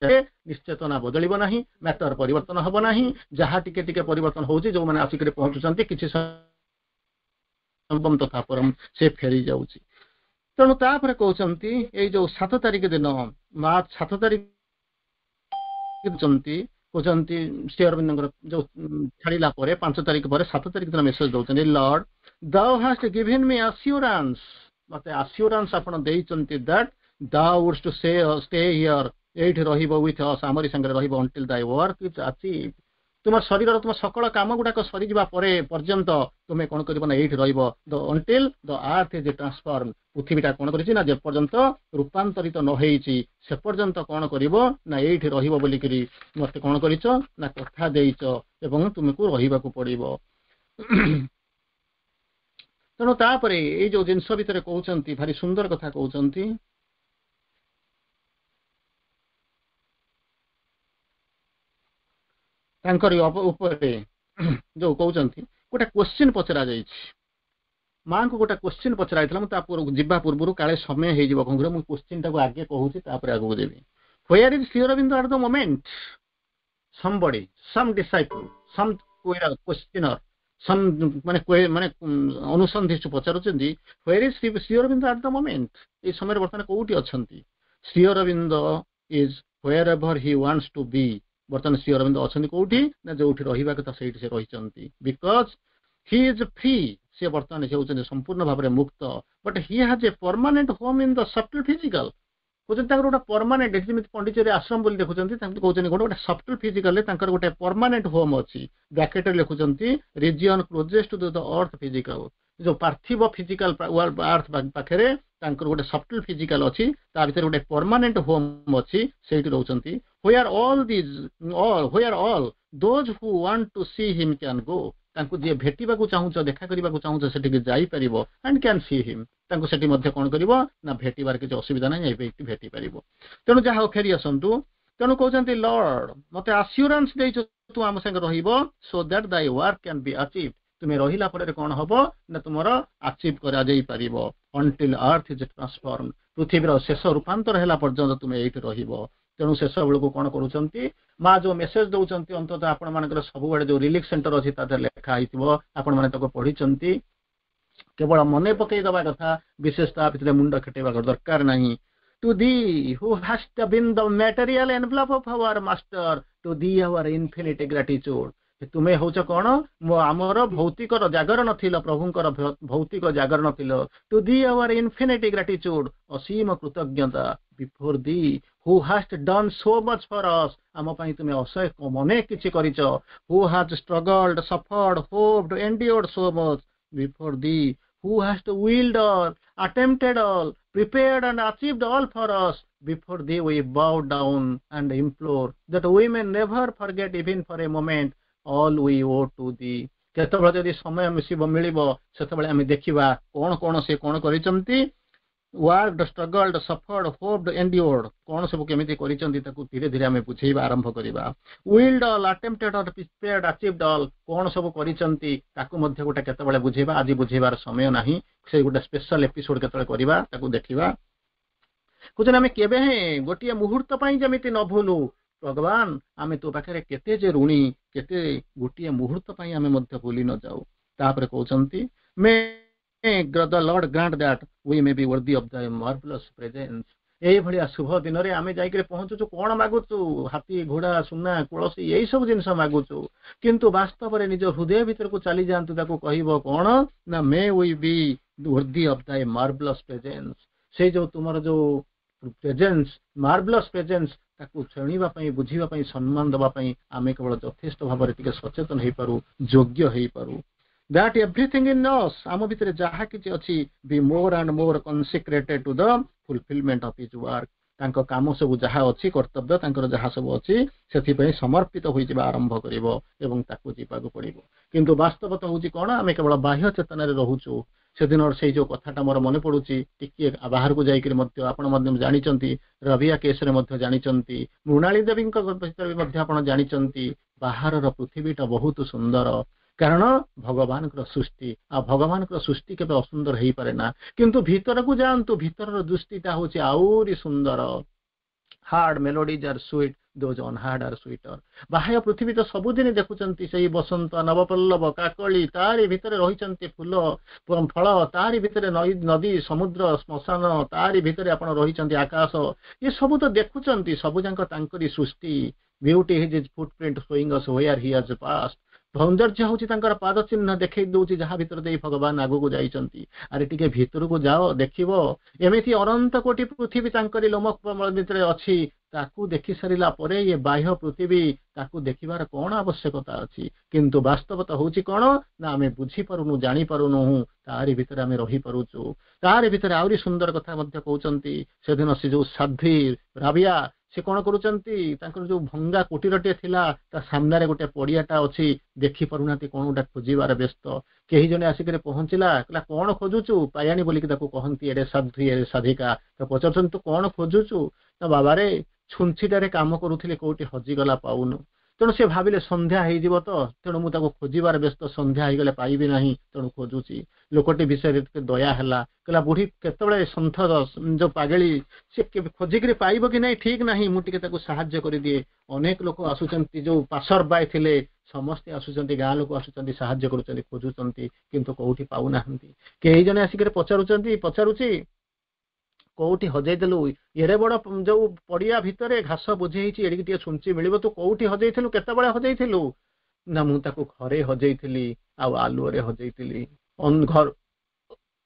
ନିଶ୍ଚେତନା ବଦଳିବ ନାହିଁ, ମ୍ୟାଟର ପରିବର୍ତ୍ତନ ହବ ନାହିଁ। ଯାହା ଟିକେ ଟିକେ ପରିବର୍ତ୍ତନ ହଉଛି, ଯୋଉମାନେ ଆସିକରି ପହଞ୍ଚୁଛନ୍ତି କିଛି ତଥା ପରମ ସେ ଫେରି ଯାଉଛି। ତେଣୁ ତାପରେ କହୁଛନ୍ତି, ଏଇ ଯୋଉ 7 ତାରିଖ ଦିନ, ମାର୍ଚ୍ଚ 7 ତାରିଖ କହୁଛନ୍ତି, ଶ୍ରୀ ଅରବିନ୍ଦଙ୍କର ଯୋଉ ଛାଡିଲା ପରେ 5 ତାରିଖ ପରେ 7 ତାରିଖ ଦିନ ମେସେଜ ଦଉଛନ୍ତି, "Lord, thou hast given me assurance," ମତେ ଆସିଓରାନ୍ସ ଆପଣ ଦେଇଛନ୍ତି, "that thou wouldst to say stay here," ଏଇଠି ରହିବ, "with us," ଆମରି ସାଙ୍ଗରେ ରହିବ, "until thy work is achieved." ତୁମ ଶରୀରର ତୁମ ସକଳ କାମ ଗୁଡାକ ସରିଯିବା ପରେ ପର୍ଯ୍ୟନ୍ତ ତୁମେ କଣ କରିବ ନା ଏଇଠି ରହିବ। The until the earth is transformed, ପୃଥିବୀଟା କଣ କରିଛି ନା ଯେପର୍ଯ୍ୟନ୍ତ ରୂପାନ୍ତରିତ ନ ହେଇଛି, ସେ ପର୍ଯ୍ୟନ୍ତ କଣ କରିବ ନା ଏଇଠି ରହିବ ବୋଲିକିରି ମତେ କଣ କରିଛ ନା କଥା ଦେଇଛ ଏବଂ ତୁମକୁ ରହିବାକୁ ପଡିବ। ତେଣୁ ତାପରେ ଏଇ ଯୋଉ ଜିନିଷ ଭିତରେ କହୁଛନ୍ତି, ଭାରି ସୁନ୍ଦର କଥା କହୁଛନ୍ତି। ତାଙ୍କରି ଉପରେ ଯୋଉ କହୁଛନ୍ତି, ଗୋଟେ କ୍ୱେଶ୍ଚିନ୍ ପଚରା ଯାଇଛି ମାଙ୍କୁ। ଗୋଟେ କ୍ୱେଶ୍ଚିନ୍ ପଚରା ହେଇଥିଲା। ମୁଁ ତା ଯିବା ପୂର୍ବରୁ, କାଳେ ସମୟ ହେଇଯିବ କଣ କରିବ, ମୁଁ କ୍ୱେଶ୍ଚିନ୍ ଟାକୁ ଆଗେ କହୁଛି, ତାପରେ ଆଗକୁ ଯିବି। Where is Sri Aurobindo at the moment? Somebody, some disciple, some questioner, some ମାନେ ଅନୁସନ୍ଧିତ୍ସୁ ପଚାରୁଛନ୍ତି, where is Sri Aurobindo at the moment? ଏଇ ସମୟରେ ବର୍ତ୍ତମାନ କୋଉଠି ଅଛନ୍ତି? Sri Aurobindo is wherever he wants to be। ବର୍ତ୍ତମାନ ଶ୍ରୀ ଅରବିନ୍ଦ ଅଛନ୍ତି କୋଉଠି ନା ଯୋଉଠି ରହିବା କଥା ସେଇଠି ସେ ରହିଛନ୍ତି, because he is free। ସେ ବର୍ତ୍ତମାନ ସେ ହେଉଛନ୍ତି ସମ୍ପୂର୍ଣ୍ଣ ଭାବରେ ମୁକ୍ତ। But he has a permanent home in the subtle physical। କହୁଛନ୍ତି ତାଙ୍କର ଗୋଟେ ପରମାନେଣ୍ଟ, ଯେମିତି ପଣ୍ଡିଚେରୀ ଆଶ୍ରମ ବୋଲି ଦେଖୁଛନ୍ତି, ତାଙ୍କୁ କହୁଛନ୍ତି ଗୋଟେ ସବଟଲ ଫିଜିକାଲରେ ତାଙ୍କର ଗୋଟେ ପରମାନେଣ୍ଟ ହୋମ୍ ଅଛି। ବ୍ରାକେଟରେ ଲେଖୁଛନ୍ତି, "region closest to the earth physical"। ଯୋଉ ପାର୍ଥିବ ଫିଜିକାଲ ଆର୍ଥ ପାଖରେ ତାଙ୍କର ଗୋଟେ ସବଟଲ ଫିଜିକାଲ ଅଛି, ତା ଭିତରେ ଗୋଟେ ପରମାନେଣ୍ଟ ହୋମ୍ ଅଛି, ସେଇଠି ରହୁଛନ୍ତି, where all those who want to see him can go। ତାଙ୍କୁ ଯିଏ ଭେଟିବାକୁ ଚାହୁଁଛ, ଦେଖା କରିବାକୁ ଚାହୁଁଛ, ସେଠିକି ଯାଇପାରିବ। ଆଣ୍ଡ can C ହିମ୍, ତାଙ୍କୁ ସେଠି ମଧ୍ୟ କଣ କରିବ ନା ଭେଟିବାର କିଛି ଅସୁବିଧା ନାହିଁ, ଯାଇକି ଭେଟି ପାରିବ। ତେଣୁ ଯାହା ହଉ, ଫେରି ଆସନ୍ତୁ। ତେଣୁ କହୁଛନ୍ତି, ଲର୍ଡ, ମତେ ଆସିଉରାନ୍ସ ଦେଇଛ, ତୁ ଆମ ସାଙ୍ଗେ ରହିବ, "so that thy work can be achieve"। ତୁମେ ରହିଲା ଫଳରେ କଣ ହବ ନା ତୁମର ଆଚିଭ୍ କରାଯାଇ ପାରିବ। "Until earth is transform", ପୃଥିବୀର ଶେଷ ରୂପାନ୍ତର ହେଲା ପର୍ଯ୍ୟନ୍ତ ତୁମେ ଏଇଠି ରହିବ। ତେଣୁ ଶେଷ ବେଳକୁ କଣ କରୁଛନ୍ତି ମା? ଯୋଉ ମେସେଜ ଦଉଛନ୍ତି, ଅନ୍ତତଃ ଆପଣମାନଙ୍କର ସବୁବେଳେ ଯୋଉ ରିଲିଫ ସେଣ୍ଟର ଅଛି, ତା ଦେହରେ ଲେଖା ହେଇଥିବ, ଆପଣମାନେ ତାକୁ ପଢିଛନ୍ତି। କେବଳ ମନେ ପକେଇ ଦବା କଥା, ବିଶେଷ ତା ଭିତରେ ମୁଣ୍ଡ ଖଟେଇବା ଦରକାର ନାହିଁ। "To thee who hast been the material envelope of our Master, to thee our infinite gratitude." ତୁମେ ହଉଛ କଣ? ଆମର ଭୌତିକର ଜାଗରଣ ଥିଲ, ପ୍ରଭୁଙ୍କର ଭୌତିକ ଜାଗରଣ ଥିଲ। "To thee our infinite gratitude", ଅସୀମ କୃତଜ୍ଞତା। "Before thee who hast done so much for us", ଆମ ପାଇଁ ତୁମେ ଅସହ୍ୟ ଅନେକ କିଛି କରିଛ। "Who has struggled, suffered, hoped, endured so much, before thee who hast willed all, attempted all, prepared and achieved all for us, before thee we bow down and implore that we may never forget even for a moment all we owe to thee." କେତେବେଳେ ଯଦି ସମୟ ମିଶିବ, ମିଳିବ, ସେତେବେଳେ ଆମେ ଦେଖିବା କଣ କଣ ସେ କଣ କରିଛନ୍ତି। Worked, struggled, suffered, hoped, endured, କଣ ସବୁ କେମିତି କରିଛନ୍ତି, ତାକୁ ଧୀରେ ଧୀରେ ଆମେ ବୁଝେଇବା ଆରମ୍ଭ କରିବା। Willed all, attempted all, prepared, achieved all, କଣ ସବୁ କରିଛନ୍ତି, ତାକୁ ମଧ୍ୟ ଗୋଟେ କେତେବେଳେ ବୁଝେଇବା। ଆଜି ବୁଝେଇବାର ସମୟ ନାହିଁ। ସେ ଗୋଟେ ସ୍ପେଶାଲ ଏପିସୋଡ କେତେବେଳେ କରିବା, ତାକୁ ଦେଖିବା। କହୁଛନ୍ତି, ଆମେ କେବେ ହେଁ ଗୋଟିଏ ମୁହୂର୍ତ୍ତ ପାଇଁ ଯେମିତି ନ ଭୁଲୁ, ଭଗବାନ, ଆମେ ତୋ ପାଖରେ କେତେ ଯେ ଋଣୀ, କେତେ ଗୋଟିଏ ମୁହୂର୍ତ୍ତ ପାଇଁ ଆମେ ମଧ୍ୟ ଭୁଲି ନ ଯାଉ। ତାପରେ କହୁଛନ୍ତି, "May the Lord grant that we may be worthy of thy marvellous presence." ଏଇଭଳିଆ ଶୁଭ ଦିନରେ ଆମେ ଯାଇକରି ପହଞ୍ଚୁଛୁ। କଣ ମାଗୁଛୁ? ହାତୀ, ଘୋଡା, ସୁନା, ତୁଳସୀ, ଏଇ ସବୁ ଜିନିଷ ମାଗୁଛୁ। କିନ୍ତୁ ବାସ୍ତବରେ ନିଜ ହୃଦୟ ଭିତରକୁ ଚାଲି ଯାଆନ୍ତୁ। ତାକୁ କହିବ କଣ ନା, "May we be worthy of thy marvellous presence"। ସେଇ ଯୋଉ ତୁମର ଯୋଉ ପ୍ରେଜେନ୍ସ, ମାର୍ଭଲସ୍ ପ୍ରେଜେନ୍ସ, ତାକୁ ଶୁଣିବା ପାଇଁ, ବୁଝିବା ପାଇଁ, ସମ୍ମାନ ଦେବା ପାଇଁ ଆମେ କେବଳ ଯଥେଷ୍ଟ ଭାବରେ ଟିକେ ସଚେତନ ହେଇପାରୁ, ଯୋଗ୍ୟ ହେଇପାରୁ। "That everything in us", ଆମ ଭିତରେ ଯାହା କିଛି ଅଛି, "be more and more consecrated to the fulfillment of his work"। ତାଙ୍କ କାମ ସବୁ ଯାହା ଅଛି, କର୍ତ୍ତବ୍ୟ ତାଙ୍କର ଯାହା ସବୁ ଅଛି, ସେଥିପାଇଁ ସମର୍ପିତ ହୋଇଯିବା ଆରମ୍ଭ କରିବ ଏବଂ ତାକୁ ଯିବାକୁ ପଡିବ। କିନ୍ତୁ ବାସ୍ତବତା ହଉଛି କଣ? ଆମେ କେବଳ ବାହ୍ୟ ଚେତନାରେ ରହୁଛୁ। ସେଦିନର ସେଇ ଯୋଉ କଥାଟା ମୋର ମନେ ପଡୁଛି, ଟିକିଏ ବାହାରକୁ ଯାଇକରି ମଧ୍ୟ ଆପଣ ମଧ୍ୟ ଜାଣିଛନ୍ତି, ରବିଆ କେସରେ ମଧ୍ୟ ଜାଣିଛନ୍ତି, ମୃଣାଳୀ ଦେବୀଙ୍କ ଭିତରେ ବି ମଧ୍ୟ ଆପଣ ଜାଣିଛନ୍ତି। ବାହାରର ପୃଥିବୀଟା ବହୁତ ସୁନ୍ଦର, କାରଣ ଭଗବାନଙ୍କର ସୃଷ୍ଟି, ଆଉ ଭଗବାନଙ୍କର ସୃଷ୍ଟି କେବେ ଅସୁନ୍ଦର ହେଇପାରେ ନା। କିନ୍ତୁ ଭିତରକୁ ଯାଆନ୍ତୁ, ଭିତରର ଦୃଷ୍ଟିଟା ହଉଛି ଆହୁରି ସୁନ୍ଦର। "Heard melodies are sweet, those unheard are sweeter." ବାହ୍ୟ ପୃଥିବୀ ତ ସବୁଦିନ ଦେଖୁଛନ୍ତି, ସେଇ ବସନ୍ତ, ନବପଲ୍ଲବ, କାକଳି, ତାରି ଭିତରେ ରହିଛନ୍ତି, ଫୁଲ, ଫଳ, ତାରି ଭିତରେ ନଦୀ, ସମୁଦ୍ର, ଶ୍ମଶାନ, ତାରି ଭିତରେ ଆପଣ ରହିଛନ୍ତି, ଆକାଶ, ଏ ସବୁ ତ ଦେଖୁଛନ୍ତି, ସବୁ ଯାକ ତାଙ୍କରି ସୃଷ୍ଟି। "Beauty is his footprint showing us where he has passed." ସୌନ୍ଦର୍ଯ୍ୟ ହଉଛି ତାଙ୍କର ପାଦ ଚିହ୍ନ, ଦେଖେଇ ଦଉଛି ଯାହା ଭିତରେ ଦେଇ ଭଗବାନ ଆଗକୁ ଯାଇଛନ୍ତି। ଆରେ, ଟିକେ ଭିତରକୁ ଯାଅ, ଦେଖିବ, ଏମିତି ଅନନ୍ତ କୋଟି ପୃଥିବୀ ତାଙ୍କରି ଲୋମ ଭିତରେ ଅଛି। ତାକୁ ଦେଖି ସାରିଲା ପରେ ଇଏ ବାହ୍ୟ ପୃଥିବୀ, ତାକୁ ଦେଖିବାର କଣ ଆବଶ୍ୟକତା ଅଛି? କିନ୍ତୁ ବାସ୍ତବତା ହଉଛି କଣ ନା ଆମେ ବୁଝିପାରୁନୁ, ଜାଣିପାରୁନୁ, ତାରି ଭିତରେ ଆମେ ରହିପାରୁଛୁ। ତାରି ଭିତରେ ଆହୁରି ସୁନ୍ଦର କଥା ମଧ୍ୟ କହୁଛନ୍ତି। ସେଦିନ ସେ ଯୋଉ ସାଧ୍ୱୀ ରାବିଆ, ସେ କଣ କରୁଛନ୍ତି? ତାଙ୍କର ଯୋଉ ଭଙ୍ଗା କୁଟୀରଟିଏ ଥିଲା, ତା ସାମ୍ନାରେ ଗୋଟେ ପଡିଆଟା ଅଛି, ଦେଖି ପାରୁନାହାନ୍ତି, କଣ ଗୋଟେ ଖୋଜିବାର ବ୍ୟସ୍ତ। କେହି ଜଣେ ଆସିକରି ପହଞ୍ଚିଲା, କହିଲା, "କଣ ଖୋଜୁଛୁ?" ପାୟାଣୀ ବୋଲିକି ତାକୁ କହନ୍ତି। ଏଡେ ସାଧ୍ୱୀ, ଏଡେ ସାଧିକା, ତ ପଚାରୁଛନ୍ତି, "ତୁ କଣ ଖୋଜୁଛୁ?" ନା, "ବାବାରେ, ଛୁଞ୍ଚିଟାରେ କାମ କରୁଥିଲି, କୋଉଠି ହଜିଗଲା, ପାଉନୁ।" ତେଣୁ ସେ ଭାବିଲେ, ସନ୍ଧ୍ୟା ହେଇଯିବ ତ, ତେଣୁ ମୁଁ ତାକୁ ଖୋଜିବାର ବ୍ୟସ୍ତ, ସନ୍ଧ୍ୟା ହେଇଗଲେ ପାଇବି ନାହିଁ, ତେଣୁ ଖୋଜୁଛି। ଲୋକଟି ବିଷୟରେ ଟିକେ ଦୟା ହେଲା। କହିଲା, ବୁଢୀ କେତେବେଳେ ସନ୍ଥ, ଯୋଉ ପାଗେଳି, ସେ ଖୋଜିକିରି ପାଇବ କି ନାହିଁ ଠିକ ନାହିଁ, ମୁଁ ଟିକେ ତାକୁ ସାହାଯ୍ୟ କରିଦିଏ। ଅନେକ ଲୋକ ଆସୁଛନ୍ତି, ଯୋଉ ପାସର ବାଇ ଥିଲେ ସମସ୍ତେ ଆସୁଛନ୍ତି, ଗାଁ ଲୋକ ଆସୁଛନ୍ତି, ସାହାଯ୍ୟ କରୁଛନ୍ତି, ଖୋଜୁଛନ୍ତି, କିନ୍ତୁ କୋଉଠି ପାଉନାହାନ୍ତି। କେହି ଜଣେ ଆସିକରି ପଚାରୁଛନ୍ତି, ପଚାରୁଛି, "କୋଉଠି ହଜେଇ ଦେଲୁ? ଏଡ଼େ ବଡ ଯୋଉ ପଡିଆ ଭିତରେ ଘାସ ବୋଝି ହେଇଛି, ଏଡ଼ିକି ଟିକେ ଛୁଞ୍ଚି ମିଳିବ? ତୁ କୋଉଠି ହଜେଇଥିଲୁ? କେତେବେଳେ ହଜେଇଥିଲୁ?" ନା, "ମୁଁ ତାକୁ ଘରେ ହଜେଇଥିଲି ଆଉ ଆଲୁଅରେ ହଜେଇଥିଲି, ଘର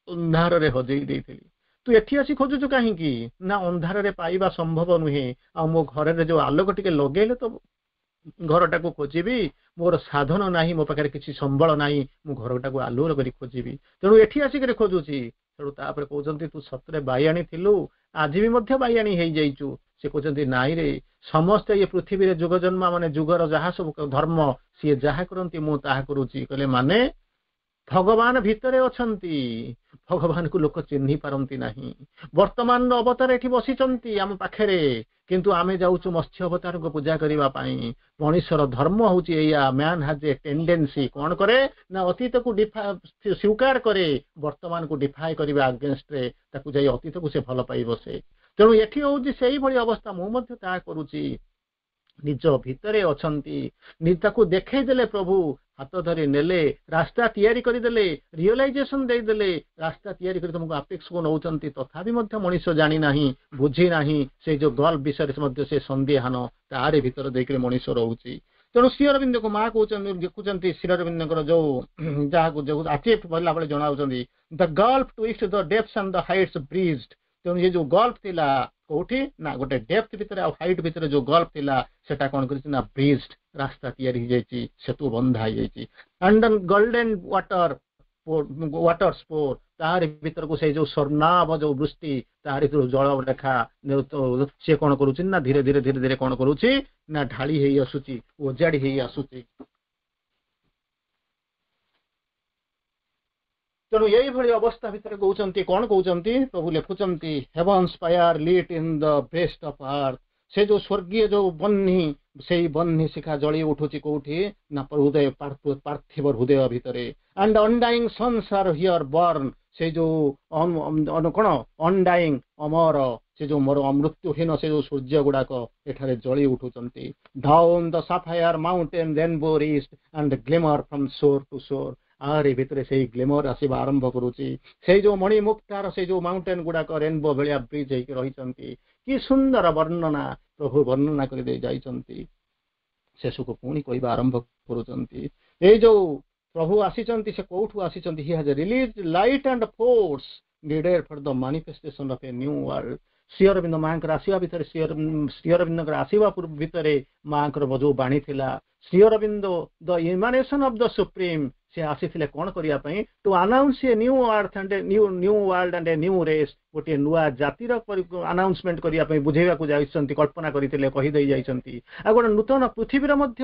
ଅନ୍ଧାରରେ ହଜେଇ ଦେଇଥିଲି।" ତୁ ଏଠି ଆସି ଖୋଜୁଛୁ କାହିଁକି? ନା, ଅନ୍ଧାରରେ ପାଇବା ସମ୍ଭବ ନୁହେଁ, ଆଉ ମୋ ଘରରେ ଯୋଉ ଆଲୋକ ଟିକେ ଲଗେଇଲେ ତ ଘରଟାକୁ ଖୋଜିବି। ମୋର ସାଧନ ନାହିଁ, ମୋ ପାଖରେ କିଛି ସମ୍ବଳ ନାହିଁ, ମୁଁ ଘରଟାକୁ ଆଲୁଅ କରି ଖୋଜିବି, ତେଣୁ ଏଠି ଆସିକରି ଖୋଜୁଛି। ତେଣୁ ତାପରେ କହୁଛନ୍ତି, ତୁ ସତରେ ବାଇଆଣୀ ଥିଲୁ, ଆଜି ବି ମଧ୍ୟ ବାଇଆଣୀ ହେଇଯାଇଛୁ। ସେ କହୁଛନ୍ତି, ନାଇଁ ରେ, ସମସ୍ତେ ଏ ପୃଥିବୀରେ ଯୁଗ ଜନ୍ମ ମାନେ ଯୁଗର ଯାହା ସବୁ ଧର୍ମ, ସିଏ ଯାହା କରନ୍ତି ମୁଁ ତାହା କରୁଛି। କହିଲେ, ମାନେ ଭଗବାନ ଭିତରେ ଅଛନ୍ତି, ଭଗବାନକୁ ଲୋକ ଚିହ୍ନି ପାରନ୍ତି ନାହିଁ। ବର୍ତ୍ତମାନର ଅବତାର ଏଠି ବସିଛନ୍ତି ଆମ ପାଖରେ, କିନ୍ତୁ ଆମେ ଯାଉଛୁ ମତ୍ସ୍ୟ ଅବତାରଙ୍କୁ ପୂଜା କରିବା ପାଇଁ। ମଣିଷର ଧର୍ମ ହଉଛି ଏଇଆ। Man has a tendency, କଣ କରେ ନା ଅତୀତକୁ ସ୍ୱୀକାର କରେ, ବର୍ତ୍ତମାନକୁ ଡିଫାଏ କରିବା ଆଗେନଷ୍ଟରେ ତାକୁ ଯାଇ ଅତୀତକୁ ସେ ଭଲ ପାଇ ବସେ। ତେଣୁ ଏଠି ହଉଛି ସେଇଭଳି ଅବସ୍ଥା, ମୁଁ ମଧ୍ୟ ତାହା କରୁଛି। ନିଜ ଭିତରେ ଅଛନ୍ତି, ତାକୁ ଦେଖେଇ ଦେଲେ ପ୍ରଭୁ, ହାତ ଧରି ନେଲେ, ରାସ୍ତା ତିଆରି କରିଦେଲେ, ରିଅଲାଇଜେସନ ଦେଇଦେଲେ, ରାସ୍ତା ତିଆରି କରି ତମକୁ ଆପେକ୍ସକୁ ନଉଛନ୍ତି। ତଥାପି ମଧ୍ୟ ମଣିଷ ଜାଣି ନାହିଁ, ବୁଝି ନାହିଁ। ସେଇ ଯୋଉ ଗଲ୍ଫ ବିଷୟରେ ମଧ୍ୟ ସେ ସନ୍ଦିହାନ, ତାରି ଭିତରେ ଦେଇକରି ମଣିଷ ରହୁଛି। ତେଣୁ ଶ୍ରୀ ଅରବିନ୍ଦକୁ ମା କହୁଛନ୍ତି, ଦେଖୁଛନ୍ତି ଶ୍ରୀ ଅରବିନ୍ଦଙ୍କର ଯୋଉ ଯାହାକୁ ଯୋଉ ଆଚିଭ୍ କଲା ବେଳେ ଜଣାଉଛନ୍ତି, "The gulf 'twixt the depths and the heights bridged." ତେଣୁ ଏ ଯୋଉ ଗଲ୍ଫ ଥିଲା କୋଉଠି ନା ଗୋଟେ ଡେପ୍ଥ ଭିତରେ ଆଉ ହାଇଟ୍ ଭିତରେ ଯୋଉ ଗଲ୍ଫ ଥିଲା, ସେଟା କଣ କରିଛି ନା ବ୍ରିଜ, ରାସ୍ତା ତିଆରି ହେଇଯାଇଛି, ସେତୁ ବନ୍ଧା ହେଇଯାଇଛି। And golden waters pour, ତାରି ଭିତରକୁ ସେଇ ଯୋଉ ସ୍ୱର୍ଣ୍ଣାଭ ଯୋଉ ବୃଷ୍ଟି, ତାରି ଭିତରୁ ଜଳ ରେଖା ସିଏ କଣ କରୁଛି ନା ଧୀରେ ଧୀରେ ଧୀରେ ଧୀରେ କଣ କରୁଛି ନା ଢାଳି ହେଇ ଆସୁଛି, ଓଜାଡି ହେଇ ଆସୁଛି। ତେଣୁ ଏଇଭଳି ଅବସ୍ଥା ଭିତରେ କହୁଛନ୍ତି, କଣ କହୁଛନ୍ତି ପ୍ରଭୁ? ଲେଖୁଛନ୍ତି, "Heaven's fire lit in the breast of earth." ସେ ଯୋଉ ସ୍ୱର୍ଗୀୟ ଯୋଉ ବହ୍ନି, ସେଇ ବହ୍ନି ଶିଖା ଜଳି ଉଠୁଛି କୋଉଠି ନା ହୃଦୟ, ପାର୍ଥିବ ହୃଦୟ ଭିତରେ। "And undying suns are here born." ସେ ଯୋଉ କଣ ଅନଡାଇଂ, ଅମର, ସେ ଯୋଉ ମୋର ମୃତ୍ୟୁହୀନ ସେ ଯୋଉ ସୂର୍ଯ୍ୟ ଗୁଡାକ ଏଠାରେ ଜଳି ଉଠୁଛନ୍ତି। "Down the sapphire mountain rainbow reached and glimmer from shore to shore." ଆରି ଭିତରେ ସେଇ ଗ୍ଲିମର ଆସିବା ଆରମ୍ଭ କରୁଛି। ସେଇ ଯୋଉ ମଣିମୁକ୍ତାର ସେଇ ଯୋଉ ମାଉଣ୍ଟେନ ଗୁଡାକ ରେନବୋ ଭଳିଆ ବ୍ରିଜ ହେଇକି ରହିଛନ୍ତି। କି ସୁନ୍ଦର ବର୍ଣ୍ଣନା ପ୍ରଭୁ ବର୍ଣ୍ଣନା କରିଦେଇ ଯାଇଛନ୍ତି। ଶେଷକୁ ପୁଣି କହିବା ଆରମ୍ଭ କରୁଛନ୍ତି, ଏଇ ଯୋଉ ପ୍ରଭୁ ଆସିଛନ୍ତି, ସେ କୋଉଠୁ ଆସିଛନ୍ତି? "He has released light and force needed for the manifestation of a new world." Shri Arvind ମାଙ୍କର ଆସିବା ଭିତରେ, ଶ୍ରୀ ଅରବିନ୍ଦଙ୍କର ଆସିବା ପୂର୍ବ ଭିତରେ ମାଙ୍କର ଯୋଉ ବାଣୀ ଥିଲା, Shri Arvind the emanation of the Supreme, ସେ ଆସିଥିଲେ କଣ କରିବା ପାଇଁ? To announce a new earth and a new world and a new race. ଗୋଟିଏ ନୂଆ ଜାତିର ଆନାଉନ୍ସମେଣ୍ଟ କରିବା ପାଇଁ ବୁଝେଇବାକୁ ଯାଇଛନ୍ତି, କଳ୍ପନା କରିଥିଲେ, କହିଦେଇ ଯାଇଛନ୍ତି। ଆଉ ଗୋଟେ ନୂତନ ପୃଥିବୀର ମଧ୍ୟ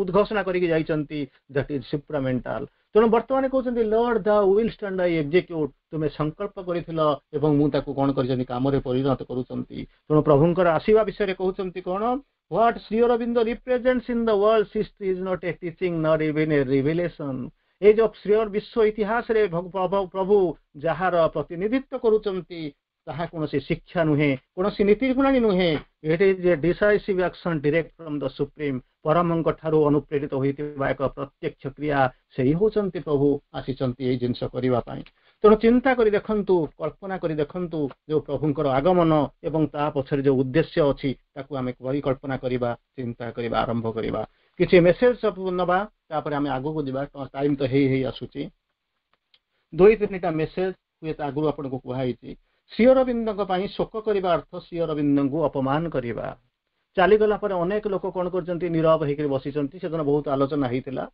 ଉଦ୍ଘୋଷଣା କରିକି ଯାଇଛନ୍ତି, that is supramental. ତେଣୁ ବର୍ତ୍ତମାନ କହୁଛନ୍ତି, "Lord, thou willst and I execute." ତୁମେ ସଂକଳ୍ପ କରିଥିଲ ଏବଂ ମୁଁ ତାକୁ କଣ କରିଛନ୍ତି, କାମରେ ପରିଣତ କରୁଛନ୍ତି। ତେଣୁ ପ୍ରଭୁଙ୍କର ଆସିବା ବିଷୟରେ କହୁଛନ୍ତି କଣ? "What Sri Aurobindo represents in the world's history is not a teaching nor even a revelation." ଏଇ ଯୋଉ ଶ୍ରୀ ବିଶ୍ୱ ଇତିହାସରେ ପ୍ରଭୁ ଯାହାର ପ୍ରତିନିଧିତ୍ୱ କରୁଛନ୍ତି, ତାହା କୌଣସି ଶିକ୍ଷା ନୁହେଁ, କୌଣସି ନୀତି ଗୁଣାଣୀ ନୁହେଁ। "It is a decisive action direct from the Supreme." ପରମଙ୍କ ଠାରୁ ଅନୁପ୍ରେରିତ ହୋଇଥିବା ଏକ ପ୍ରତ୍ୟକ୍ଷ କ୍ରିୟା। ସେଇ ହଉଛନ୍ତି ପ୍ରଭୁ, ଆସିଛନ୍ତି ଏଇ ଜିନିଷ କରିବା ପାଇଁ। ତେଣୁ ଚିନ୍ତା କରି ଦେଖନ୍ତୁ, କଳ୍ପନା କରି ଦେଖନ୍ତୁ, ଯୋଉ ପ୍ରଭୁଙ୍କର ଆଗମନ ଏବଂ ତା ପଛରେ ଯୋଉ ଉଦ୍ଦେଶ୍ୟ ଅଛି, ତାକୁ ଆମେ ପରିକଳ୍ପନା କରିବା, ଚିନ୍ତା କରିବା ଆରମ୍ଭ କରିବା। କିଛି ମେସେଜ ସବୁ ନବା, ତାପରେ ଆମେ ଆଗକୁ ଯିବା। ଟାଇମ ତ ହେଇ ହେଇ ଆସୁଛି। ଦୁଇ ତିନିଟା ମେସେଜ ହୁଏତ ଆଗରୁ ଆପଣଙ୍କୁ କୁହାହେଇଛି। ଶ୍ରୀ ଅରବିନ୍ଦଙ୍କ ପାଇଁ ଶୋକ କରିବା ଅର୍ଥ ଶ୍ରୀ ଅରବିନ୍ଦଙ୍କୁ ଅପମାନ କରିବା। ଚାଲିଗଲା ପରେ ଅନେକ ଲୋକ କଣ କରୁଛନ୍ତି? ନିରବ ହେଇକରି ବସିଛନ୍ତି। ସେଦିନ ବହୁତ ଆଲୋଚନା ହେଇଥିଲା।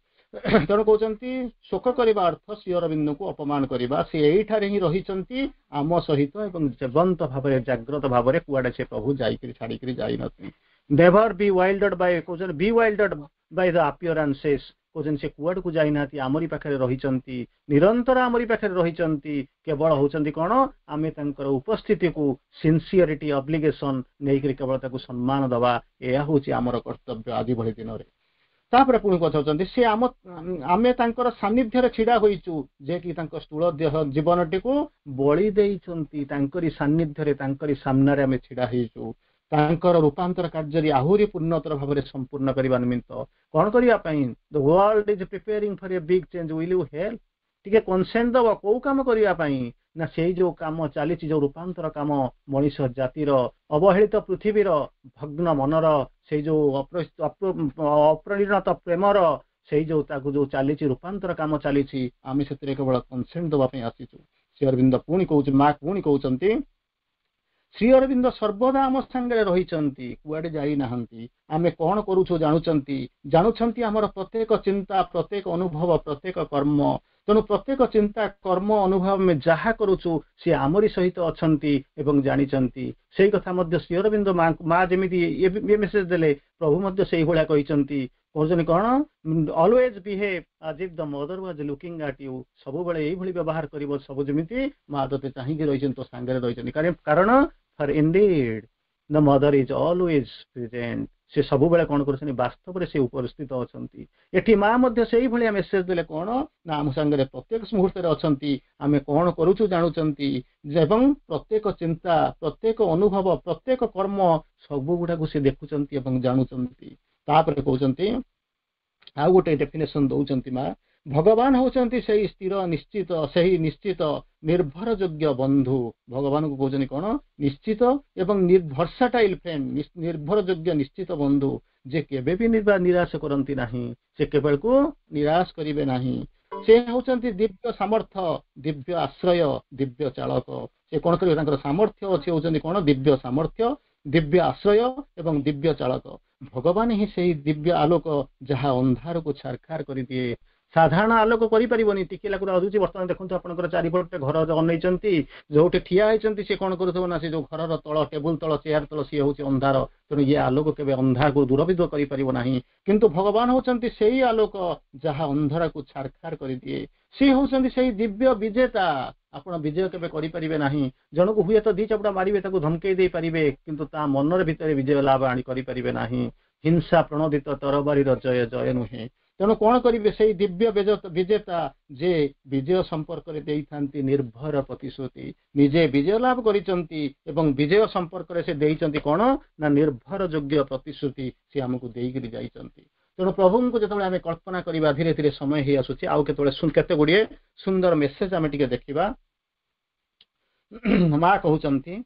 ତେଣୁ କହୁଛନ୍ତି, ଶୋକ କରିବା ଅର୍ଥ ଶ୍ରୀ ଅରବିନ୍ଦଙ୍କୁ ଅପମାନ କରିବା। ସେ ଏଇଠାରେ ହିଁ ରହିଛନ୍ତି ଆମ ସହିତ ଏବଂ ଜୀବନ୍ତ ଭାବରେ, ଜାଗ୍ରତ ଭାବରେ। କୁଆଡେ ସେ ପ୍ରଭୁ ଯାଇକିରି ଛାଡିକିରି ଯାଇନଥିଲେ। ନେଭର ବିୱାଇଲ୍ଡର୍ଡ ବାଇ, କହୁଛନ୍ତି, bewildered by the appearances. କହୁଛନ୍ତି, ସେ କୁଆଡକୁ ଯାଇନାହାନ୍ତି, ଆମରି ପାଖରେ ରହିଛନ୍ତି, ନିରନ୍ତର ଆମରି ପାଖରେ ରହିଛନ୍ତି। କେବଳ ହଉଛନ୍ତି କଣ, ଆମେ ତାଙ୍କର ଉପସ୍ଥିତିକୁ ସିନସିୟରିଟି, ଅବ୍ଲିଗେସନ ନେଇକରି କେବଳ ତାକୁ ସମ୍ମାନ ଦବା, ଏହା ହଉଛି ଆମର କର୍ତ୍ତବ୍ୟ ଆଜି ଭଳି ଦିନରେ। ତାପରେ ପୁଣି ପଚାରୁଛନ୍ତି, ସେ ଆମେ ତାଙ୍କର ସାନ୍ନିଧ୍ୟରେ ଛିଡା ହୋଇଛୁ, ଯେ କି ତାଙ୍କ ସ୍ଥୂଳ ଦେହ ଜୀବନଟିକୁ ବଳି ଦେଇଛନ୍ତି। ତାଙ୍କରି ସାନ୍ନିଧ୍ୟରେ, ତାଙ୍କରି ସାମ୍ନାରେ ଆମେ ଛିଡା ହେଇଛୁ, ତାଙ୍କର ରୂପାନ୍ତର କାର୍ଯ୍ୟରେ ଆହୁରି ପୂର୍ଣ୍ଣତର ଭାବରେ ସମ୍ପୂର୍ଣ୍ଣ କରିବା ନିମିତ୍ତ। କଣ କରିବା ପାଇଁ? "The world is preparing for a big change. Will you help?" ଟିକେ କନସେଣ୍ଟ ଦବ। କୋଉ କାମ କରିବା ପାଇଁ ନା ସେଇ ଯୋଉ କାମ ଚାଲିଛି, ଯୋଉ ରୂପାନ୍ତର କାମ, ମଣିଷ ଜାତିର, ଅବହେଳିତ ପୃଥିବୀର, ଭଗ୍ନ ମନର, ସେଇ ଯୋଉ ଅପରିଣତ ପ୍ରେମର, ସେଇ ଯୋଉ ତାକୁ ଯୋଉ ଚାଲିଛି, ରୂପାନ୍ତର କାମ ଚାଲିଛି, ଆମେ ସେଥିରେ କେବଳ କନସେଣ୍ଟ ଦବା ପାଇଁ ଆସିଛୁ। ଶ୍ରୀ ଅରବିନ୍ଦ ପୁଣି କହୁଛି, ମା ପୁଣି କହୁଛନ୍ତି, ଶ୍ରୀ ଅରବିନ୍ଦ ସର୍ବଦା ଆମ ସାଙ୍ଗରେ ରହିଛନ୍ତି, କୁଆଡେ ଯାଇନାହାନ୍ତି। ଆମେ କଣ କରୁଛୁ ଜାଣୁଛନ୍ତି, ଜାଣୁଛନ୍ତି ଆମର ପ୍ରତ୍ୟେକ ଚିନ୍ତା, ପ୍ରତ୍ୟେକ ଅନୁଭବ, ପ୍ରତ୍ୟେକ କର୍ମ। ତେଣୁ ପ୍ରତ୍ୟେକ ଚିନ୍ତା, କର୍ମ, ଅନୁଭବ ଆମେ ଯାହା କରୁଛୁ, ସେ ଆମରି ସହିତ ଅଛନ୍ତି ଏବଂ ଜାଣିଛନ୍ତି। ସେଇ କଥା ମଧ୍ୟ ଶ୍ରୀ ଅରବିନ୍ଦ ମା ଯେମିତି ଏ ମେସେଜ ଦେଲେ, ପ୍ରଭୁ ମଧ୍ୟ ସେଇଭଳିଆ କହିଛନ୍ତି। କହୁଛନ୍ତି କଣ? "Always behave as if the Mother was looking at you." ସବୁବେଳେ ଏଇଭଳି ବ୍ୟବହାର କରିବ ସବୁ, ଯେମିତି ମା ତୋତେ ଚାହିଁକି ରହିଛନ୍ତି, ତୋ ସାଙ୍ଗରେ ରହିଛନ୍ତି। କାରଣ for indeed the Mother is always present. ସେ ସବୁବେଳେ କଣ କରୁଛନ୍ତି? ବାସ୍ତବରେ ସେ ଉପସ୍ଥିତ ଅଛନ୍ତି। ଏଠି ମା ମଧ୍ୟ ସେଇଭଳିଆ ମେସେଜ ଦେଲେ। କଣ ନା ଆମ ସାଙ୍ଗରେ ପ୍ରତ୍ୟେକ ମୁହୂର୍ତ୍ତରେ ଅଛନ୍ତି, ଆମେ କଣ କରୁଛୁ ଜାଣୁଛନ୍ତି ଏବଂ ପ୍ରତ୍ୟେକ ଚିନ୍ତା, ପ୍ରତ୍ୟେକ ଅନୁଭବ, ପ୍ରତ୍ୟେକ କର୍ମ ସବୁ ଗୁଡାକୁ ସେ ଦେଖୁଛନ୍ତି ଏବଂ ଜାଣୁଛନ୍ତି। ତାପରେ କହୁଛନ୍ତି, ଆଉ ଗୋଟେ ଡେଫିନେସନ ଦଉଛନ୍ତି ମା। ଭଗବାନ ହଉଛନ୍ତି ସେଇ ସ୍ଥିର ନିଶ୍ଚିତ, ସେହି ନିଶ୍ଚିତ ନିର୍ଭରଯୋଗ୍ୟ ବନ୍ଧୁ। ଭଗବାନଙ୍କୁ କହୁଛନ୍ତି କଣ? ନିଶ୍ଚିତ ଏବଂ ଭର୍ସାଟାଇଲ ଫ୍ରେଣ୍ଡ, ନିର୍ଭରଯୋଗ୍ୟ ନିଶ୍ଚିତ ବନ୍ଧୁ, ଯେ କେବେ ବି ନିରାଶ କରନ୍ତି ନାହିଁ। ସେ କେବେକୁ ନିରାଶ କରିବେ ନାହିଁ। ସେ ହଉଛନ୍ତି ଦିବ୍ୟ ସାମର୍ଥ୍ୟ, ଦିବ୍ୟ ଆଶ୍ରୟ, ଦିବ୍ୟ ଚାଳକ। ସେ କଣ କରିବେ? ତାଙ୍କର ସାମର୍ଥ୍ୟ ଅଛି, ହଉଛନ୍ତି କଣ? ଦିବ୍ୟ ସାମର୍ଥ୍ୟ, ଦିବ୍ୟ ଆଶ୍ରୟ ଏବଂ ଦିବ୍ୟ ଚାଳକ। ଭଗବାନ ହିଁ ସେଇ ଦିବ୍ୟ ଆଲୋକ, ଯାହା ଅନ୍ଧାରକୁ ଛାରଖାର କରିଦିଏ। ସାଧାରଣ ଆଲୋକ କରିପାରିବନି, ଟିକେ ଲାଗୁରୁ ଆସୁଛି। ବର୍ତ୍ତମାନ ଦେଖନ୍ତୁ, ଆପଣଙ୍କର ଚାରିପଟେ ଘର ଅନେଇଛନ୍ତି, ଯୋଉଠି ଠିଆ ହେଇଛନ୍ତି, ସେ କଣ କରୁଥିବ ନା ସେ ଯୋଉ ଘରର ତଳ, ଟେବୁଲ ତଳ, ଚେୟାର ତଳ, ସିଏ ହଉଛି ଅନ୍ଧାର। ତେଣୁ ଇଏ ଆଲୋକ କେବେ ଅନ୍ଧାରକୁ ଦୂରବିଦ କରିପାରିବ ନାହିଁ। କିନ୍ତୁ ଭଗବାନ ହଉଛନ୍ତି ସେଇ ଆଲୋକ, ଯାହା ଅନ୍ଧାରକୁ ଛାରଖାର କରିଦିଏ। ସେ ହଉଛନ୍ତି ସେଇ ଦିବ୍ୟ ବିଜେତା। ଆପଣ ବିଜୟ କେବେ କରିପାରିବେ ନାହିଁ। ଜଣକୁ ହୁଏତ ଦି ଚାପୁଡ଼ା ମାରିବେ, ତାକୁ ଧମକେଇ ଦେଇପାରିବେ, କିନ୍ତୁ ତା ମନରେ ଭିତରେ ବିଜୟ ଲାଭ ଆଣି କରିପାରିବେ ନାହିଁ। ହିଂସା ପ୍ରଣୋଦିତ ତରବାରୀର ଜୟ ଜୟ ନୁହେଁ। ତେଣୁ କଣ କରିବେ? ସେଇ ଦିବ୍ୟ ବିଜେତା, ଯେ ବିଜୟ ସମ୍ପର୍କରେ ଦେଇଥାନ୍ତି ନିର୍ଭର ପ୍ରତିଶ୍ରୁତି। ନିଜେ ବିଜୟ ଲାଭ କରିଛନ୍ତି ଏବଂ ବିଜୟ ସମ୍ପର୍କରେ ସେ ଦେଇଛନ୍ତି କଣ ନା ନିର୍ଭର ଯୋଗ୍ୟ ପ୍ରତିଶ୍ରୁତି ସେ ଆମକୁ ଦେଇକରି ଯାଇଛନ୍ତି। ତେଣୁ ପ୍ରଭୁଙ୍କୁ ଯେତେବେଳେ ଆମେ କଳ୍ପନା କରିବା, ଧୀରେ ଧୀରେ ସମୟ ହେଇ ଆସୁଛି, ଆଉ କେତେବେଳେ କେତେ ଗୁଡ଼ିଏ ସୁନ୍ଦର ମେସେଜ ଆମେ ଟିକେ ଦେଖିବା। ମା କହୁଛନ୍ତି,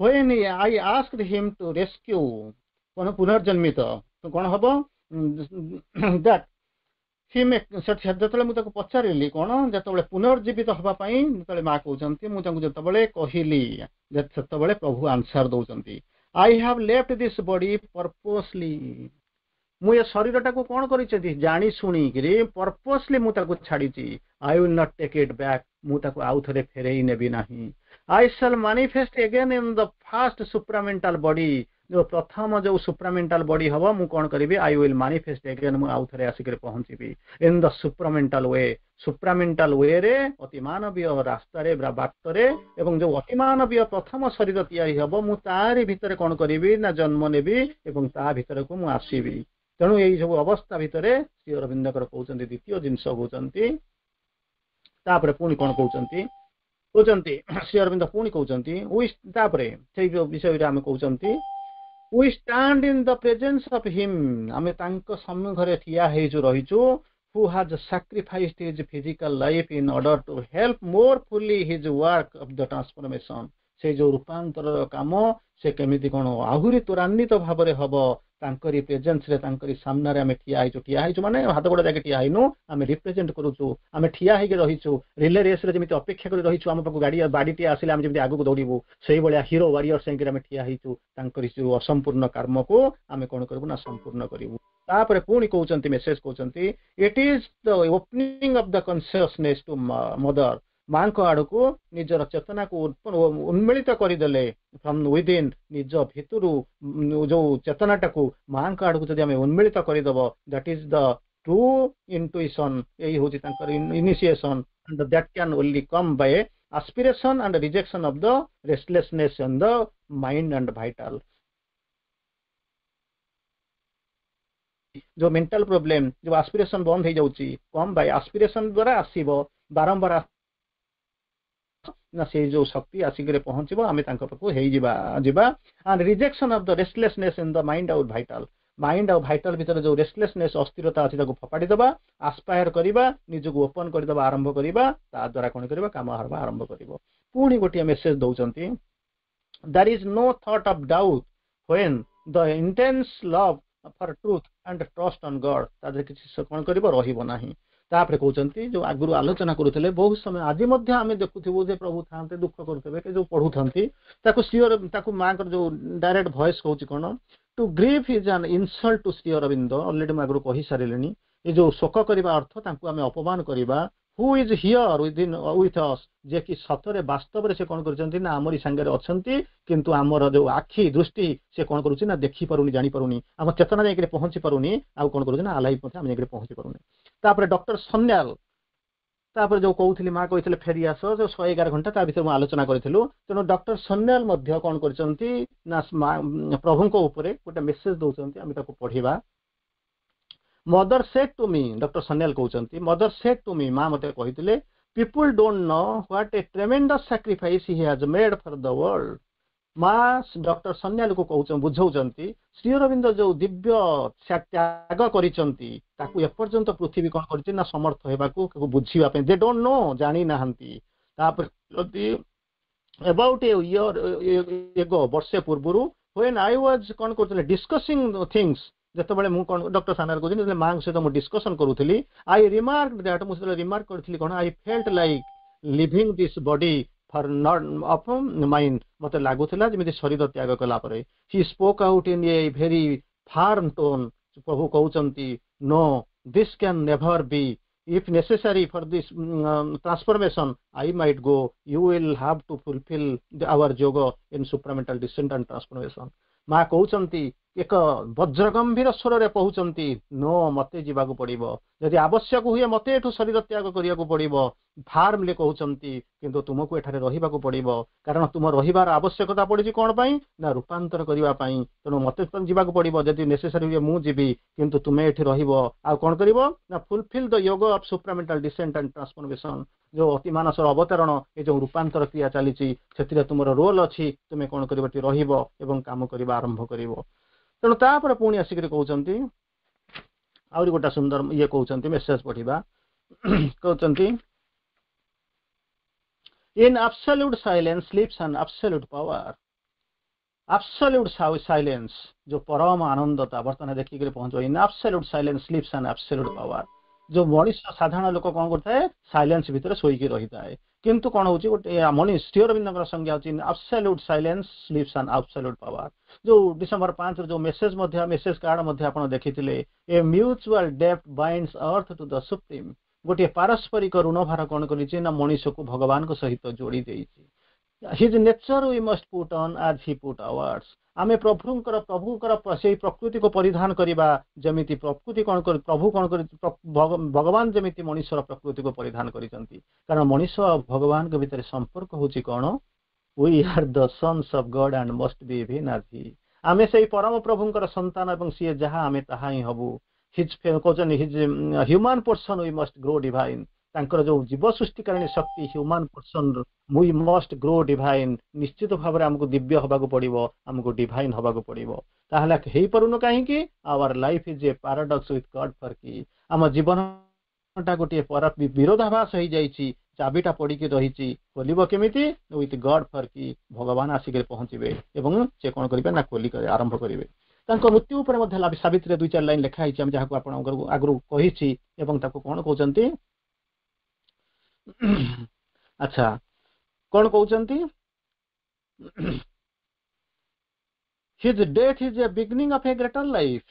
"When I asked him to rescue", କଣ ପୁନର୍ଜନ୍ମିତ କଣ ହବ, that ଯେତେବେଳେ ମୁଁ ତାକୁ ପଚାରିଲି କଣ, ଯେତେବେଳେ ପୁନର୍ଜୀବିତ ହବା ପାଇଁ ଯେତେବେଳେ ମା କହୁଛନ୍ତି, ମୁଁ ତାଙ୍କୁ ଯେତେବେଳେ କହିଲି, ସେତେବେଳେ ପ୍ରଭୁ ଆନ୍ସର ଦଉଛନ୍ତି, "I have left this body purposely." ମୁଁ ଏ ଶରୀରଟାକୁ କଣ କରିଛନ୍ତି? ଜାଣି ଶୁଣିକିରି ପର୍ପୋସଲି ମୁଁ ତାକୁ ଛାଡିଛି। "I will not take it back." ମୁଁ ତାକୁ ଆଉ ଥରେ ଫେରେଇ ନେବି ନାହିଁ। "I shall manifest again in the first supramental body." ଯୋଉ ପ୍ରଥମ ଯୋଉ ସୁପ୍ରାମେଣ୍ଟାଲ ବଡି ହବ, ମୁଁ କଣ କରିବି? "I will manifest again." ମୁଁ ଆଉ ଥରେ ଆସିକରି ପହଞ୍ଚିବି ଇନ୍ the ସୁପ୍ରାମେଣ୍ଟାଲ we. ସୁପ୍ରାମେଣ୍ଟାଲ ୱେରେ, ଅତିମାନବୀୟ ରାସ୍ତାରେ, ବାଟରେ ଏବଂ ଯୋଉ ଅତିମାନବୀୟ ପ୍ରଥମ ଶରୀର ତିଆରି ହବ, ମୁଁ ତାରି ଭିତରେ କଣ କରିବି ନା ଜନ୍ମ ନେବି ଏବଂ ତା ଭିତରକୁ ମୁଁ ଆସିବି। ତେଣୁ ଏଇ ସବୁ ଅବସ୍ଥା ଭିତରେ ଶ୍ରୀ ଅରବିନ୍ଦଙ୍କର କହୁଛନ୍ତି, ଦ୍ୱିତୀୟ ଜିନିଷ କହୁଛନ୍ତି। ତାପରେ ପୁଣି କଣ କହୁଛନ୍ତି? କହୁଛନ୍ତି, ଶ୍ରୀ ଅରବିନ୍ଦ ପୁଣି କହୁଛନ୍ତି, ତାପରେ ସେଇ ବିଷୟରେ ଆମେ କହୁଛନ୍ତି, "We stand in the presence of him", ଆମେ ତାଙ୍କ ସମ୍ମୁଖରେ ଠିଆ ହେଇଛୁ, ରହିଛୁ, "who has sacrificed his physical life in order to help more fully his work of the transformation." ସେ ଯୋଉ ରୂପାନ୍ତରର କାମ, ସେ କେମିତି କଣ ଆହୁରି ତ୍ୱରାନ୍ୱିତ ଭାବରେ ହବ, ତାଙ୍କରି ପ୍ରେଜେନ୍ସରେ, ତାଙ୍କରି ସାମ୍ନାରେ ଆମେ ଠିଆ ହେଇଛୁ। ଠିଆ ହେଇଛୁ ମାନେ ହାତ ଗୋଡ଼ ଯାଇକି ଠିଆ ହେଇନୁ, ଆମେ ରିପ୍ରେଜେଣ୍ଟ କରୁଛୁ। ଆମେ ଠିଆ ହେଇକି ରହିଛୁ। ରିଲେ ରେସ୍ରେ ଯେମିତି ଅପେକ୍ଷା କରି ରହିଛୁ, ଆମ ପାଖକୁ ଗାଡ଼ି ବାଡ଼ିଟିଏ ଆସିଲେ ଆମେ ଯେମିତି ଆଗକୁ ଦୌଡ଼ିବୁ, ସେଇଭଳିଆ ହିରୋ ୱାରିୟର ସାଙ୍ଗରେ ଆମେ ଠିଆ ହେଇଛୁ। ତାଙ୍କରି ଯୋଉ ଅସମ୍ପୂର୍ଣ୍ଣ କର୍ମକୁ ଆମେ କଣ କରିବୁ ନା ସମ୍ପୂର୍ଣ୍ଣ କରିବୁ। ତାପରେ ପୁଣି କହୁଛନ୍ତି, ମେସେଜ କହୁଛନ୍ତି, "It is the opening of the consciousness to Mother." ମାଙ୍କ ଆଡ଼କୁ ନିଜର ଚେତନାକୁ ଉନ୍ମିଳିତ କରିଦେଲେ, ଫ୍ରମ୍ ୱିଦିନ୍, ନିଜ ଭିତରୁ ଯୋଉ ଚେତନାଟାକୁ ମାଙ୍କ ଆଡ଼କୁ ଯଦି ଆମେ ଉନ୍ମିଳିତ କରିଦେବ, that is the true intuition. ଏଇ ହଉଛି ତାଙ୍କର initiation, and that can only come by aspiration and rejection of the restlessness in the mind and vital. ଯୋଉ ମେଣ୍ଟାଲ ପ୍ରୋବ୍ଲେମ, ଯୋଉ ଆସ୍ପିରେସନ ବନ୍ଦ ହେଇଯାଉଛି, କମ୍ ବାଇ ଆସ୍ପିରେସନ ଦ୍ୱାରା ଆସିବ ବାରମ୍ବାର ନା ସେଇ ଯୋଉ ଶକ୍ତି ଆସିକରି ପହଞ୍ଚିବ, ଆମେ ତାଙ୍କ ପାଖକୁ ହେଇଯିବା ଯିବା। And rejection of the restlessness in the mind ଆଉ ଭାଇଟାଲ। ମାଇଣ୍ଡ ଆଉ ଭାଇଟାଲ ଭିତରେ ଯୋଉ ରେଷ୍ଟଲେସନେସ୍, ଅସ୍ଥିରତା ଅଛି, ତାକୁ ଫୋପାଡ଼ି ଦେବା, ଆସ୍ପାୟାର କରିବା, ନିଜକୁ ଓପନ କରିଦେବା ଆରମ୍ଭ କରିବା। ତା ଦ୍ୱାରା କଣ କରିବା? କାମ ହେବା ଆରମ୍ଭ କରିବ। ପୁଣି ଗୋଟିଏ ମେସେଜ ଦଉଛନ୍ତି, "There is no thought of doubt when the intense love for truth and trust on God", ତା ଦେହରେ କିଛି କଣ କରିବ? ରହିବ ନାହିଁ। ତାପରେ କହୁଛନ୍ତି, ଯୋଉ ଆଗରୁ ଆଲୋଚନା କରୁଥିଲେ ବହୁତ ସମୟ, ଆଜି ମଧ୍ୟ ଆମେ ଦେଖୁଥିବୁ ଯେ ପ୍ରଭୁ ଥାନ୍ତେ, ଦୁଃଖ କରୁଥିବେ କି ଯୋଉ ପଢୁଥାନ୍ତି ତାକୁ, ଶ୍ରୀ ତାକୁ ମାଙ୍କର ଯୋଉ ଡାଇରେକ୍ଟ ଭଏସ କହୁଛି କଣ? "To grieve is an insult to Sri Aurobindo." Already ମୁଁ ଆଗରୁ କହିସାରିଲିଣି, ଏ ଯୋଉ ଶୋକ କରିବା ଅର୍ଥ ତାଙ୍କୁ ଆମେ ଅପମାନ କରିବା, who is here within with us, ଯେ କି ସତରେ ବାସ୍ତବରେ ସେ କଣ କରିଛନ୍ତି ନା ଆମରି ସାଙ୍ଗରେ ଅଛନ୍ତି। କିନ୍ତୁ ଆମର ଯୋଉ ଆଖି ଦୃଷ୍ଟି, ସେ କଣ କରୁଛି ନା ଦେଖିପାରୁନି, ଜାଣିପାରୁନି, ଆମ ଚେତନା ଯାଇକରି ପହଞ୍ଚି ପାରୁନି। ଆଉ କଣ କରୁଛି ନା ଆଲାଇଭ୍ ମଧ୍ୟ ଆମେ ଯାଇକରି ପହଞ୍ଚି ପାରୁନି। ତାପରେ ଡକ୍ଟର ସନ୍ୟାଲ, ତାପରେ ଯୋଉ କହୁଥିଲି, ମା କହିଥିଲେ ଫେରି ଆସ, ଯୋଉ 111 ଘଣ୍ଟା, ତା ଭିତରେ ମୁଁ ଆଲୋଚନା କରିଥିଲୁ। ତେଣୁ ଡକ୍ଟର ସନ୍ୟାଲ ମଧ୍ୟ କଣ କରିଛନ୍ତି ନା ପ୍ରଭୁଙ୍କ ଉପରେ ଗୋଟେ ମେସେଜ ଦଉଛନ୍ତି, ଆମେ ତାକୁ ପଢିବା। "Mother said to me," doctor Sanyal କହୁଛନ୍ତି, "Mother said to me," ମା ମତେ କହିଥିଲେ, "people don't know what a tremendous sacrifice he has made for the world." ମା ଡକ୍ଟର ସନ୍ୟାଲକୁ କହୁଛନ୍ତି, ବୁଝାଉଛନ୍ତି, ଶ୍ରୀ ଅରବିନ୍ଦ ଯୋଉ ଦିବ୍ୟ ତ୍ୟାଗ କରିଛନ୍ତି, ତାକୁ ଏପର୍ଯ୍ୟନ୍ତ ପୃଥିବୀ କଣ କରିଛି ନା ସମର୍ଥ ହେବାକୁ, ବୁଝିବା ପାଇଁ, they don't know, ଜାଣି ନାହାନ୍ତି। ତାପରେ ଯଦି ଏବାଉଟ୍ ଏ ଇୟର ଏଗୋ, ବର୍ଷେ ପୂର୍ବରୁ, when I was କଣ କରୁଥିଲେ, ଡିସ୍କସିଂ ଥିଙ୍ଗସ୍, ଯେତେବେଳେ ମୁଁ କଣ, ଡକ୍ଟର ସନ୍ୟାଲ କହୁଛନ୍ତି, ଯେତେବେଳେ ମାଙ୍କ ସହିତ ମୁଁ ଡିସ୍କସନ କରୁଥିଲି, I remark that, ମୁଁ ସେତେବେଳେ ରିମାର୍କ କରିଥିଲି କଣ, "I felt like leaving this body for not of mine." ମତେ ଲାଗୁଥିଲା ଯେମିତି ଶରୀର ତ୍ୟାଗ କଲା ପରେ। He spoke out in a very firm tone. ପ୍ରଭୁ କହୁଛନ୍ତି, "No, this can never be. If necessary for this transformation, I might go. You will have to fulfill our yoga in supramental descent and transformation." ମା କହୁଛନ୍ତି, ଏକ ବଜ୍ରଗମ୍ଭୀର ସ୍ୱରରେ କହୁଛନ୍ତି, no, ମତେ ଯିବାକୁ ପଡିବ। ଯଦି ଆବଶ୍ୟକ ହୁଏ, ମତେ ଏଠୁ ଶରୀର ତ୍ୟାଗ କରିବାକୁ ପଡିବ, ଫାର୍ମଲି କହୁଛନ୍ତି, କିନ୍ତୁ ତୁମକୁ ଏଠାରେ ରହିବାକୁ ପଡିବ। କାରଣ ତୁମ ରହିବାର ଆବଶ୍ୟକତା ପଡିଛି କଣ ପାଇଁ ନା ରୂପାନ୍ତର କରିବା ପାଇଁ। ତେଣୁ ମତେ ଯିବାକୁ ପଡିବ। ଯଦି ନେସେସାରୀ ହୁଏ, ମୁଁ ଯିବି, କିନ୍ତୁ ତୁମେ ଏଠି ରହିବ। ଆଉ କଣ କରିବ ନା fulfill the yoga of supramental descent and transformation. ଯୋଉ ଅତିମାନସର ଅବତରଣ, ଏ ଯୋଉ ରୂପାନ୍ତର କ୍ରିୟା ଚାଲିଛି, ସେଥିରେ ତୁମର ରୋଲ ଅଛି। ତୁମେ କଣ କରିବ? ଏଠି ରହିବ ଏବଂ କାମ କରିବା ଆରମ୍ଭ କରିବ। ତେଣୁ ତାପରେ ପୁଣି ଆସିକରି କହୁଛନ୍ତି, ଆହୁରି ଗୋଟେ ସୁନ୍ଦର ଇଏ କହୁଛନ୍ତି, ମେସେଜ ପଢିବା। କହୁଛନ୍ତି, "In absolute silence sleeps an absolute power." Absolute silence, ଯୋଉ ପରମ ଆନନ୍ଦତା ବର୍ତ୍ତମାନ ଦେଖିକରି ପହଞ୍ଚିବ। "In absolute silence sleeps an absolute power." ଯୋଉ ମଣିଷ, ସାଧାରଣ ଲୋକ କଣ କରୁଥାଏ? ସାଇଲେନ୍ସ ଭିତରେ ଶୋଇକି ରହିଥାଏ। କିନ୍ତୁ କଣ ହଉଛି, ଗୋଟେ ମଣିଷ, ଶ୍ରୀ ଅରବିନ୍ଦଙ୍କର ସଂଜ୍ଞା ହଉଛି, "Absolute silence sleeps an absolute power." ଯୋଉ ଡିସେମ୍ବର 5ର ଯୋଉ ମେସେଜ ମଧ୍ୟ, ମେସେଜ କାର୍ଡ ମଧ୍ୟ ଆପଣ ଦେଖିଥିଲେ, "A mutual debt binds earth to the Supreme." ଗୋଟିଏ ପାରସ୍ପରିକ ଋଣଭାର କଣ କରିଛି ନା ମଣିଷକୁ ଭଗବାନଙ୍କ ସହିତ ଯୋଡି ଦେଇଛି। "His nature we must put on as he put ours." ଆମେ ପ୍ରଭୁଙ୍କର ସେଇ ପ୍ରକୃତିକୁ ପରିଧାନ କରିବା, ଯେମିତି ପ୍ରକୃତି କଣ କରି, ପ୍ରଭୁ କଣ କରି, ଭଗବାନ ଯେମିତି ମଣିଷର ପ୍ରକୃତିକୁ ପରିଧାନ କରିଛନ୍ତି। କାରଣ ମଣିଷ ଆଉ ଭଗବାନଙ୍କ ଭିତରେ ସମ୍ପର୍କ ହଉଛି କଣ? We are the sons of God and must be even as he. ଆମେ ସେଇ ପରମ ପ୍ରଭୁଙ୍କର ସନ୍ତାନ ଏବଂ ସିଏ ଯାହା, ଆମେ ତାହା ହିଁ ହବୁ। His, କହୁଛନ୍ତି, "His human portion we must grow divine." ତାଙ୍କର ଯୋଉ ଜୀବ ସୃଷ୍ଟିକାରିଣୀ ଶକ୍ତି, human portion we must grow divine. ନିଶ୍ଚିତ ଭାବରେ ଆମକୁ ଦିବ୍ୟ ହବାକୁ ପଡିବ, ଆମକୁ ଡିଭାଇନ ହବାକୁ ପଡିବ। ତାହେଲେ ହେଇପାରୁନୁ କାହିଁକି? "Our life is a paradox with God for key." ଆମ ଜୀବନଟା ଗୋଟିଏ ବିରୋଧାଭାସ ହେଇଯାଇଛି। ଚାବିଟା ପଡିକି ରହିଛି, ଖୋଲିବ କେମିତି? ୱିଥ୍ ଗଡ୍ ଫର୍ କି, ଭଗବାନ ଆସିକରି ପହଞ୍ଚିବେ ଏବଂ ସେ କଣ କରିବେ ନା ଖୋଲି ଆରମ୍ଭ କରିବେ। ତାଙ୍କ ମୃତ୍ୟୁ ଉପରେ ମଧ୍ୟ ସାବିତ୍ରୀରେ ଦୁଇ ଚାରି ଲାଇନ ଲେଖା ହେଇଛି, ଆମେ ଯାହାକୁ ଆପଣଙ୍କର ଆଗରୁ କହିଛି। ଏବଂ ତାକୁ କଣ କହୁଛନ୍ତି? ଆଚ୍ଛା, କଣ କହୁଛନ୍ତି? "His death is a beginning of a greater life."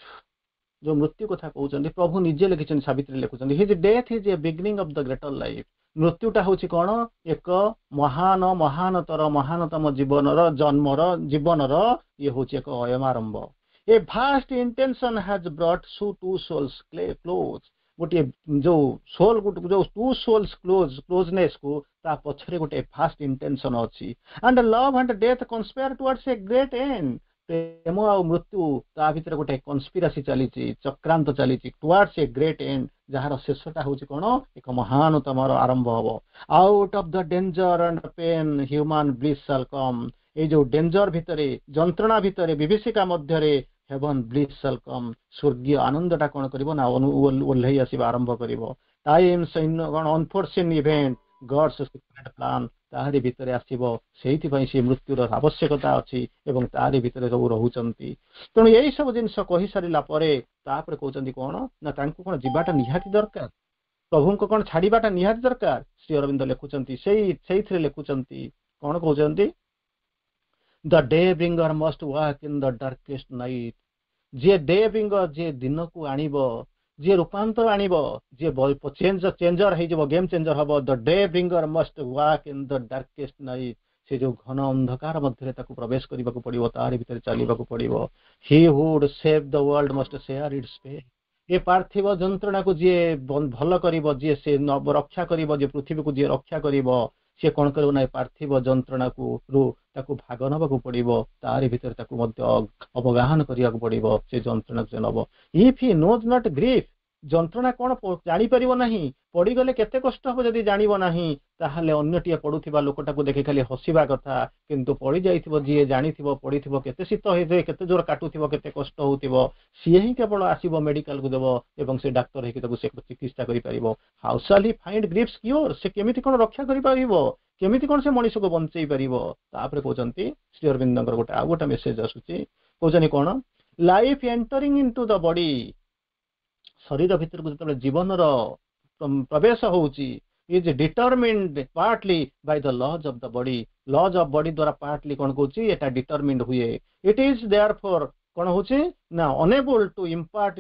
ଯୋଉ ମୃତ୍ୟୁ କଥା କହୁଛନ୍ତି, ପ୍ରଭୁ ନିଜେ ଲେଖିଛନ୍ତି, ସାବିତ୍ରୀ ଲେଖୁଛନ୍ତି, "His death is a beginning of the greater life." ମୃତ୍ୟୁଟା ହଉଛି କଣ? ଏକ ମହାନ, ମହାନତର, ମହାନତମ ଜୀବନର ଜନ୍ମର, ଜୀବନର ଇଏ ହଉଛି ଏକ ଅୟମାରମ୍ଭ। "A vast intention has brought two souls close." ଗୋଟିଏ ଯୋଉ ସୋଲ, ଯୋଉ ଟୁ ସୋଲ୍ସ କ୍ଲୋଜ, କ୍ଲୋଜନେସ୍ କୁ ତା ପଛରେ ଗୋଟେ ଭାଷ୍ଟ ଇଣ୍ଟେନସନ ଅଛି। "And love and death conspire towards a great end." ପ୍ରେମ ଆଉ ମୃତ୍ୟୁ, ତା ଭିତରେ ଗୋଟେ କନସ୍ପିରାସି ଚାଲିଛି, ଚକ୍ରାନ୍ତ ଚାଲିଛି, ଟୁୱାର୍ଡସ ଏ ଗ୍ରେଟ୍ ଏଣ୍ଡ, ଯାହାର ଶେଷଟା ହଉଛି କଣ? ଏକ ମହାନତମର ଆରମ୍ଭ ହବ। "Out of the danger and pain human bliss shall come." ଏଇ ଯୋଉ ଡେଞ୍ଜର ଭିତରେ, ଯନ୍ତ୍ରଣା ଭିତରେ, ବିଭୀଷିକା ମଧ୍ୟରେ ହେଭନ ବ୍ଲିସ୍ ସାଲ୍ କମ୍, ସ୍ୱର୍ଗୀୟ ଆନନ୍ଦଟା କଣ କରିବ ନା ଓହ୍ଲେଇ ଆସିବା ଆରମ୍ଭ କରିବ। ଟାଇମ୍ସ କଣ, ଅନଫୋରସିନ୍ ଇଭେଣ୍ଟ, ଗଡ୍ସ ସିକ୍ରେଟ ପ୍ଲାନ୍, ତାହାରି ଭିତରେ ଆସିବ। ସେଇଥିପାଇଁ ସେ ମୃତ୍ୟୁର ଆବଶ୍ୟକତା ଅଛି ଏବଂ ତାହାରି ଭିତରେ ସବୁ ରହୁଛନ୍ତି। ତେଣୁ ଏଇ ସବୁ ଜିନିଷ କହିସାରିଲା ପରେ ତାପରେ କହୁଛନ୍ତି କଣ ନା ତାଙ୍କୁ କଣ ଯିବାଟା ନିହାତି ଦରକାର। ପ୍ରଭୁଙ୍କୁ କଣ ଛାଡିବାଟା ନିହାତି ଦରକାର? ଶ୍ରୀ ଅରବିନ୍ଦ ଲେଖୁଛନ୍ତି, ସେଇଥିରେ ଲେଖୁଛନ୍ତି, କଣ କହୁଛନ୍ତି? "The day bringer must walk in the darkest night." ଯିଏ ଡେ ବ୍ରିଙ୍ଗର, ଯିଏ ଦିନକୁ ଆଣିବ, ଯିଏ ରୂପାନ୍ତର ଆଣିବ, ଯିଏ ଚେଞ୍ଜର ହେଇଯିବ, ଗେମ୍ ଚେଞ୍ଜର ହବ, the day bringer must walk in the darkest night. ସେ ଯୋଉ ଘନ ଅନ୍ଧକାର ମଧ୍ୟରେ ତାକୁ ପ୍ରବେଶ କରିବାକୁ ପଡିବ, ତାରି ଭିତରେ ଚାଲିବାକୁ ପଡିବ। "He would save the world must share its pain." ଏ ପାର୍ଥିବ ଯନ୍ତ୍ରଣାକୁ ଯିଏ ଭଲ କରିବ, ଯିଏ ସେ ରକ୍ଷା କରିବ, ଯିଏ ପୃଥିବୀକୁ ଯିଏ ରକ୍ଷା କରିବ, ସିଏ କଣ କରିବ ନା ଏ ପାର୍ଥିବ ଯନ୍ତ୍ରଣାକୁ ରୁ ତାକୁ ଭାଗ ନେବାକୁ ପଡିବ। ତାରି ଭିତରେ ତାକୁ ମଧ୍ୟ ଅବଗାହନ କରିବାକୁ ପଡିବ। ସେ ଯନ୍ତ୍ରଣାକୁ ସେ ନବ। "If he knows not grief," ଯନ୍ତ୍ରଣା କଣ ଜାଣିପାରିବ ନାହିଁ, ପଡିଗଲେ କେତେ କଷ୍ଟ ହବ ଯଦି ଜାଣିବ ନାହିଁ, ତାହେଲେ ଅନ୍ୟଟିଏ ପଡୁଥିବା ଲୋକଟାକୁ ଦେଖି ଖାଲି ହସିବା କଥା। କିନ୍ତୁ ପଡି ଯାଇଥିବ ଯିଏ ଜାଣିଥିବ, ପଡିଥିବ, କେତେ ଶୀତ ହେଇଥିବ, କେତେ ଜୋର କାଟୁଥିବ, କେତେ କଷ୍ଟ ହଉଥିବ, ସିଏ ହିଁ କେବଳ ଆସିବ, ମେଡିକାଲକୁ ଦେବ ଏବଂ ସେ ଡାକ୍ତର ହେଇକି ତାକୁ ସେ ଚିକିତ୍ସା କରିପାରିବ। "How shall he find grief's cure?" ସେ କେମିତି କଣ ରକ୍ଷା କରିପାରିବ? କେମିତି କଣ ସେ ମଣିଷକୁ ବଞ୍ଚେଇ ପାରିବ? ତାପରେ କହୁଛନ୍ତି, ଶ୍ରୀ ଅରବିନ୍ଦଙ୍କର ଗୋଟେ ଆଉ ଗୋଟେ ମେସେଜ ଆସୁଛି। କହୁଛନ୍ତି କଣ? "Life entering into the body," ଶରୀର ଭିତରକୁ ଯେତେବେଳେ ଜୀବନର ପ୍ରବେଶ ହଉଛି, "is determined partly by the laws of the body." Laws of body ଦ୍ୱାରା ପାର୍ଟଲି କଣ କହୁଛି, ଏଟା ଡିଟରମିଣ୍ଡ ହୁଏ। It is therefore କଣ ହଉଛି ନା ଅନଏବୁଲ two impart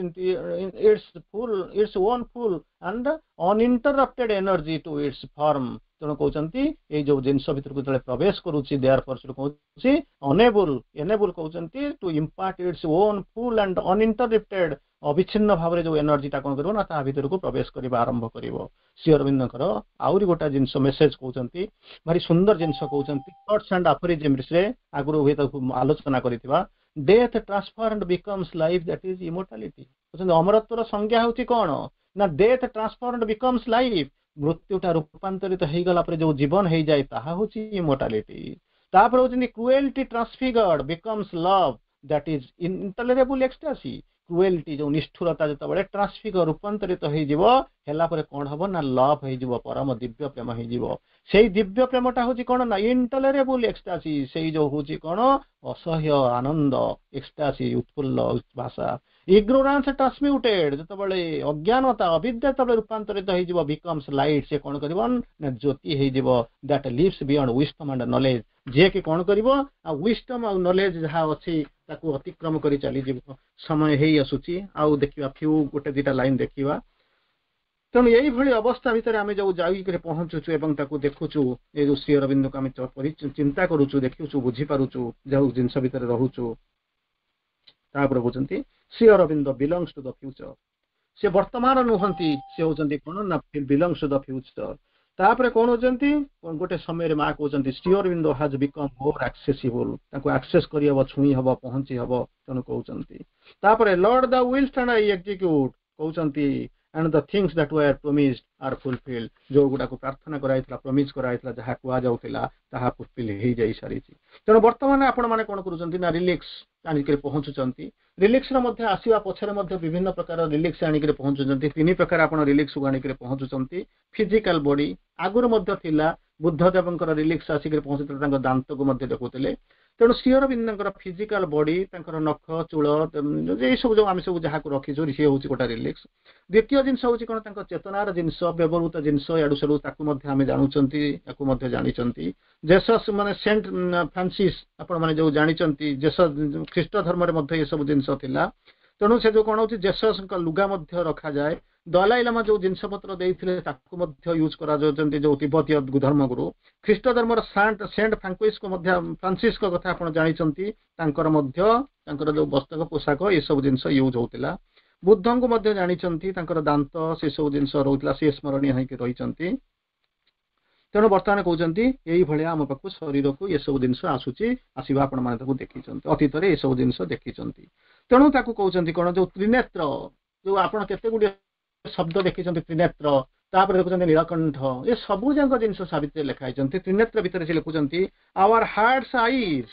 its own full and uninterrupted energy to its form. ତେଣୁ କହୁଛନ୍ତି, ଏଇ ଯୋଉ ଜିନିଷ ଭିତରକୁ ଯେତେବେଳେ ପ୍ରବେଶ କରୁଛି, there ଫର କହୁଛି ଅନଏବୁଲ, ଏନେବୁଲ କହୁଛନ୍ତି to impart its own full and uninterrupted, ଅବିଚ୍ଛିନ୍ନ ଭାବରେ ଯୋଉ ଏନର୍ଜିଟା କଣ କରିବ ନା ତା ଭିତରକୁ ପ୍ରବେଶ କରିବା ଆରମ୍ଭ କରିବ। ଶ୍ରୀ ଅରବିନ୍ଦଙ୍କର ଆହୁରି ଗୋଟେ ଜିନିଷ ମେସେଜ କହୁଛନ୍ତି, ଭାରି ସୁନ୍ଦର ଜିନିଷ କହୁଛନ୍ତି। ଥଟ୍ସ ଆଣ୍ଡ ଆଫୋରିଜିମ୍ସରେ ଆଗରୁ ହୁଏତ ଆଲୋଚନା କରିଥିବା। "Death transformed becomes life, that is immortality." କହୁଛନ୍ତି, ଅମରତ୍ୱର ସଂଜ୍ଞା ହେଉଛି କଣ ନା death transformed becomes life. ମୃତ୍ୟୁଟା ରୂପାନ୍ତରିତ ହେଇଗଲା ପରେ ଯୋଉ ଜୀବନ ହେଇଯାଏ, ତାହା ହଉଛି ଇମୋର୍ଟାଲିଟି। ତାପରେ ହଉଛନ୍ତି, "Cruelty transfigured becomes love, that is intolerable ecstasy." Cruelty, ଯୋଉ ନିଷ୍ଠୁରତା ଯେତେବେଳେ ଟ୍ରାନ୍ସଫିଗର, ରୂପାନ୍ତରିତ ହେଇଯିବ, ହେଲା ପରେ କଣ ହବ ନା ଲଭ୍ ହେଇଯିବ, ପରମ ଦିବ୍ୟ ପ୍ରେମ ହେଇଯିବ। ସେଇ ଦିବ୍ୟ ପ୍ରେମଟା ହଉଛି କଣ ନା ଇନଟଲରେବୁଲ ଏକ୍ସଟାସି। ସେଇ ଯୋଉ ହଉଛି କଣ ଅସହ୍ୟ ଆନନ୍ଦ, ଏକ୍ସଟାସି, ଉତ୍ଫୁଲ୍ଲ ଭାଷା। ଇଗ୍ନୋରାନ୍ସ ଟ୍ରାନ୍ସମ୍ୟୁଟେଡ୍, ଯେତେବେଳେ ଅଜ୍ଞାନତା, ଅବିଦ୍ୟା ଯେତେବେଳେ ରୂପାନ୍ତରିତ ହେଇଯିବ, ବିକମ୍ସ ଲାଇଟ୍, ସେ କଣ କରିବ ନା ଜ୍ୟୋତି ହେଇଯିବ, that lives beyond wisdom and knowledge. ଯିଏକି କଣ କରିବ ଆଉ ୱିଜଡମ୍ ଆଉ ନଲେଜ ଯାହା ଅଛି, ତାକୁ ଅତିକ୍ରମ କରି ଚାଲିଯିବ। ସମୟ ହେଇ ଆସୁଛି, ଆଉ ଦେଖିବା ଫ୍ୟୁ ଗୋଟେ ଦିଟା ଲାଇନ ଦେଖିବା। ତେଣୁ ଏଇଭଳି ଅବସ୍ଥା ଭିତରେ ଆମେ ଯୋଉ ଯାଇକରି ପହଞ୍ଚୁଛୁ ଏବଂ ତାକୁ ଦେଖୁଛୁ, ଏ ଯୋଉ ଶ୍ରୀ ଅରବିନ୍ଦକୁ ଆମେ ଚିନ୍ତା କରୁଛୁ, ଦେଖୁଛୁ, ବୁଝିପାରୁଛୁ, ଯୋଉ ଜିନିଷ ଭିତରେ ରହୁଛୁ। ତାପରେ କହୁଛନ୍ତି, Sri Aurobindo belongs to the future. ସେ ବର୍ତ୍ତମାନ ନୁହନ୍ତି, ସେ ହଉଛନ୍ତି କଣ ନା ବିଲଙ୍ଗସ୍ ଟୁ the future. ତାପରେ କଣ ହଉଛନ୍ତି, ଗୋଟେ ସମୟରେ ମା କହୁଛନ୍ତି, "Sri Aurobindo has become more accessible." ତାଙ୍କୁ ଆକ୍ସେସ କରିହବ, ଛୁଇଁ ହବ, ପହଞ୍ଚି ହବ। ତେଣୁ କହୁଛନ୍ତି, ତାପରେ "Lord, thou willest and I execute," କହୁଛନ୍ତି, "and the things that were promised are fulfilled." ଯୋଉ ଗୁଡାକୁ ପ୍ରାର୍ଥନା କରାଯାଇଥିଲା, ପ୍ରମିଜ କରାଯାଇଥିଲା, ଯାହା କୁହାଯାଉଥିଲା, ତାହା ଫୁଲଫିଲ୍ ହେଇଯାଇ ସାରିଛି। ତେଣୁ ବର୍ତ୍ତମାନ ଆପଣମାନେ କଣ କରୁଛନ୍ତି ନା ରିଲିକ୍ସ ଆଣିକରି ପହଞ୍ଚୁଛନ୍ତି। ରିଲିକ୍ସର ମଧ୍ୟ ଆସିବା ପଛରେ ମଧ୍ୟ ବିଭିନ୍ନ ପ୍ରକାର ରିଲିକ୍ସ ଆଣିକରି ପହଞ୍ଚୁଛନ୍ତି। ତିନି ପ୍ରକାର ଆପଣ ରିଲିକ୍ସକୁ ଆଣିକରି ପହଞ୍ଚୁଛନ୍ତି। ଫିଜିକାଲ ବଡି ଆଗରୁ ମଧ୍ୟ ଥିଲା, ବୁଦ୍ଧ ଦେବଙ୍କର ରିଲିକ୍ସ ଆସିକରି ପହଞ୍ଚୁଥିଲେ, ତାଙ୍କ ଦାନ୍ତକୁ ମଧ୍ୟ ଦେଖୁଥିଲେ। ତେଣୁ ଶ୍ରୀ ଅରବିନ୍ଦଙ୍କର ଫିଜିକାଲ ବଡି, ତାଙ୍କର ନଖ, ଚୂଳ, ଏଇ ସବୁ ଯୋଉ ଆମେ ସବୁ ଯାହାକୁ ରଖିଛୁ, ସିଏ ହଉଛି ଗୋଟେ ରିଲିକ୍ସ। ଦ୍ୱିତୀୟ ଜିନିଷ ହଉଛି କଣ? ତାଙ୍କ ଚେତନାର ଜିନିଷ, ବ୍ୟବହୃତ ଜିନିଷ, ଇଆଡୁ ସିଆଡୁ, ତାକୁ ମଧ୍ୟ ଆମେ ଜାଣୁଛନ୍ତି, ତାକୁ ମଧ୍ୟ ଜାଣିଛନ୍ତି। ଜେସସ୍ ମାନେ ସେଣ୍ଟ ଫ୍ରାନ୍ସିସ୍, ଆପଣ ମାନେ ଯୋଉ ଜାଣିଛନ୍ତି, ଜେସସ୍, ଖ୍ରୀଷ୍ଟ ଧର୍ମରେ ମଧ୍ୟ ଏସବୁ ଜିନିଷ ଥିଲା। ତେଣୁ ସେ ଯୋଉ କଣ ହଉଛି, ଜେସସ୍ଙ୍କ ଲୁଗା ମଧ୍ୟ ରଖାଯାଏ। ଦଲାଇ ଲାମା ଯୋଉ ଜିନିଷ ପତ୍ର ଦେଇଥିଲେ, ତାକୁ ମଧ୍ୟ ୟୁଜ କରାଯାଉଛନ୍ତି, ଯୋଉ ତିବ୍ବତୀୟ ଧର୍ମଗୁରୁ। ଖ୍ରୀଷ୍ଟ ଧର୍ମର ସେଣ୍ଟ ଫ୍ରାଙ୍କୁଇସ୍କୁ ମଧ୍ୟ, ଫ୍ରାନ୍ସିସଙ୍କ କଥା ଆପଣ ଜାଣିଛନ୍ତି, ତାଙ୍କର ମଧ୍ୟ ତାଙ୍କର ଯୋଉ ବସ୍ତ୍ର, ପୋଷାକ, ଏସବୁ ଜିନିଷ ୟୁଜ ହଉଥିଲା। ବୁଦ୍ଧଙ୍କୁ ମଧ୍ୟ ଜାଣିଛନ୍ତି, ତାଙ୍କର ଦାନ୍ତ, ସେ ସବୁ ଜିନିଷ ରହୁଥିଲା, ସେ ସ୍ମରଣୀୟ ହେଇକି ରହିଛନ୍ତି। ତେଣୁ ବର୍ତ୍ତମାନ କହୁଛନ୍ତି, ଏଇଭଳିଆ ଆମ ପାଖକୁ ଶରୀରକୁ ଏସବୁ ଜିନିଷ ଆସୁଛି, ଆସିବା ଆପଣମାନେ ତାକୁ ଦେଖିଛନ୍ତି, ଅତୀତରେ ଏସବୁ ଜିନିଷ ଦେଖିଛନ୍ତି। ତେଣୁ ତାକୁ କହୁଛନ୍ତି କଣ, ଯୋଉ ତ୍ରିନେତ୍ର, ଯୋଉ ଆପଣ କେତେ ଗୁଡ଼ିଏ ଶବ୍ଦ ଦେଖିଛନ୍ତି, ତ୍ରିନେତ୍ର, ତାପରେ ଦେଖୁଛନ୍ତି ନୀଳକଣ୍ଠ, ଏ ସବୁ ଯାକ ଜିନିଷ ସାବିତ୍ରୀରେ ଲେଖା ହେଇଛନ୍ତି। ତ୍ରିନେତ୍ର ଭିତରେ ସେ ଲେଖୁଛନ୍ତି, ଆୱାର ହାର୍ଟସ ଆଇଜ୍।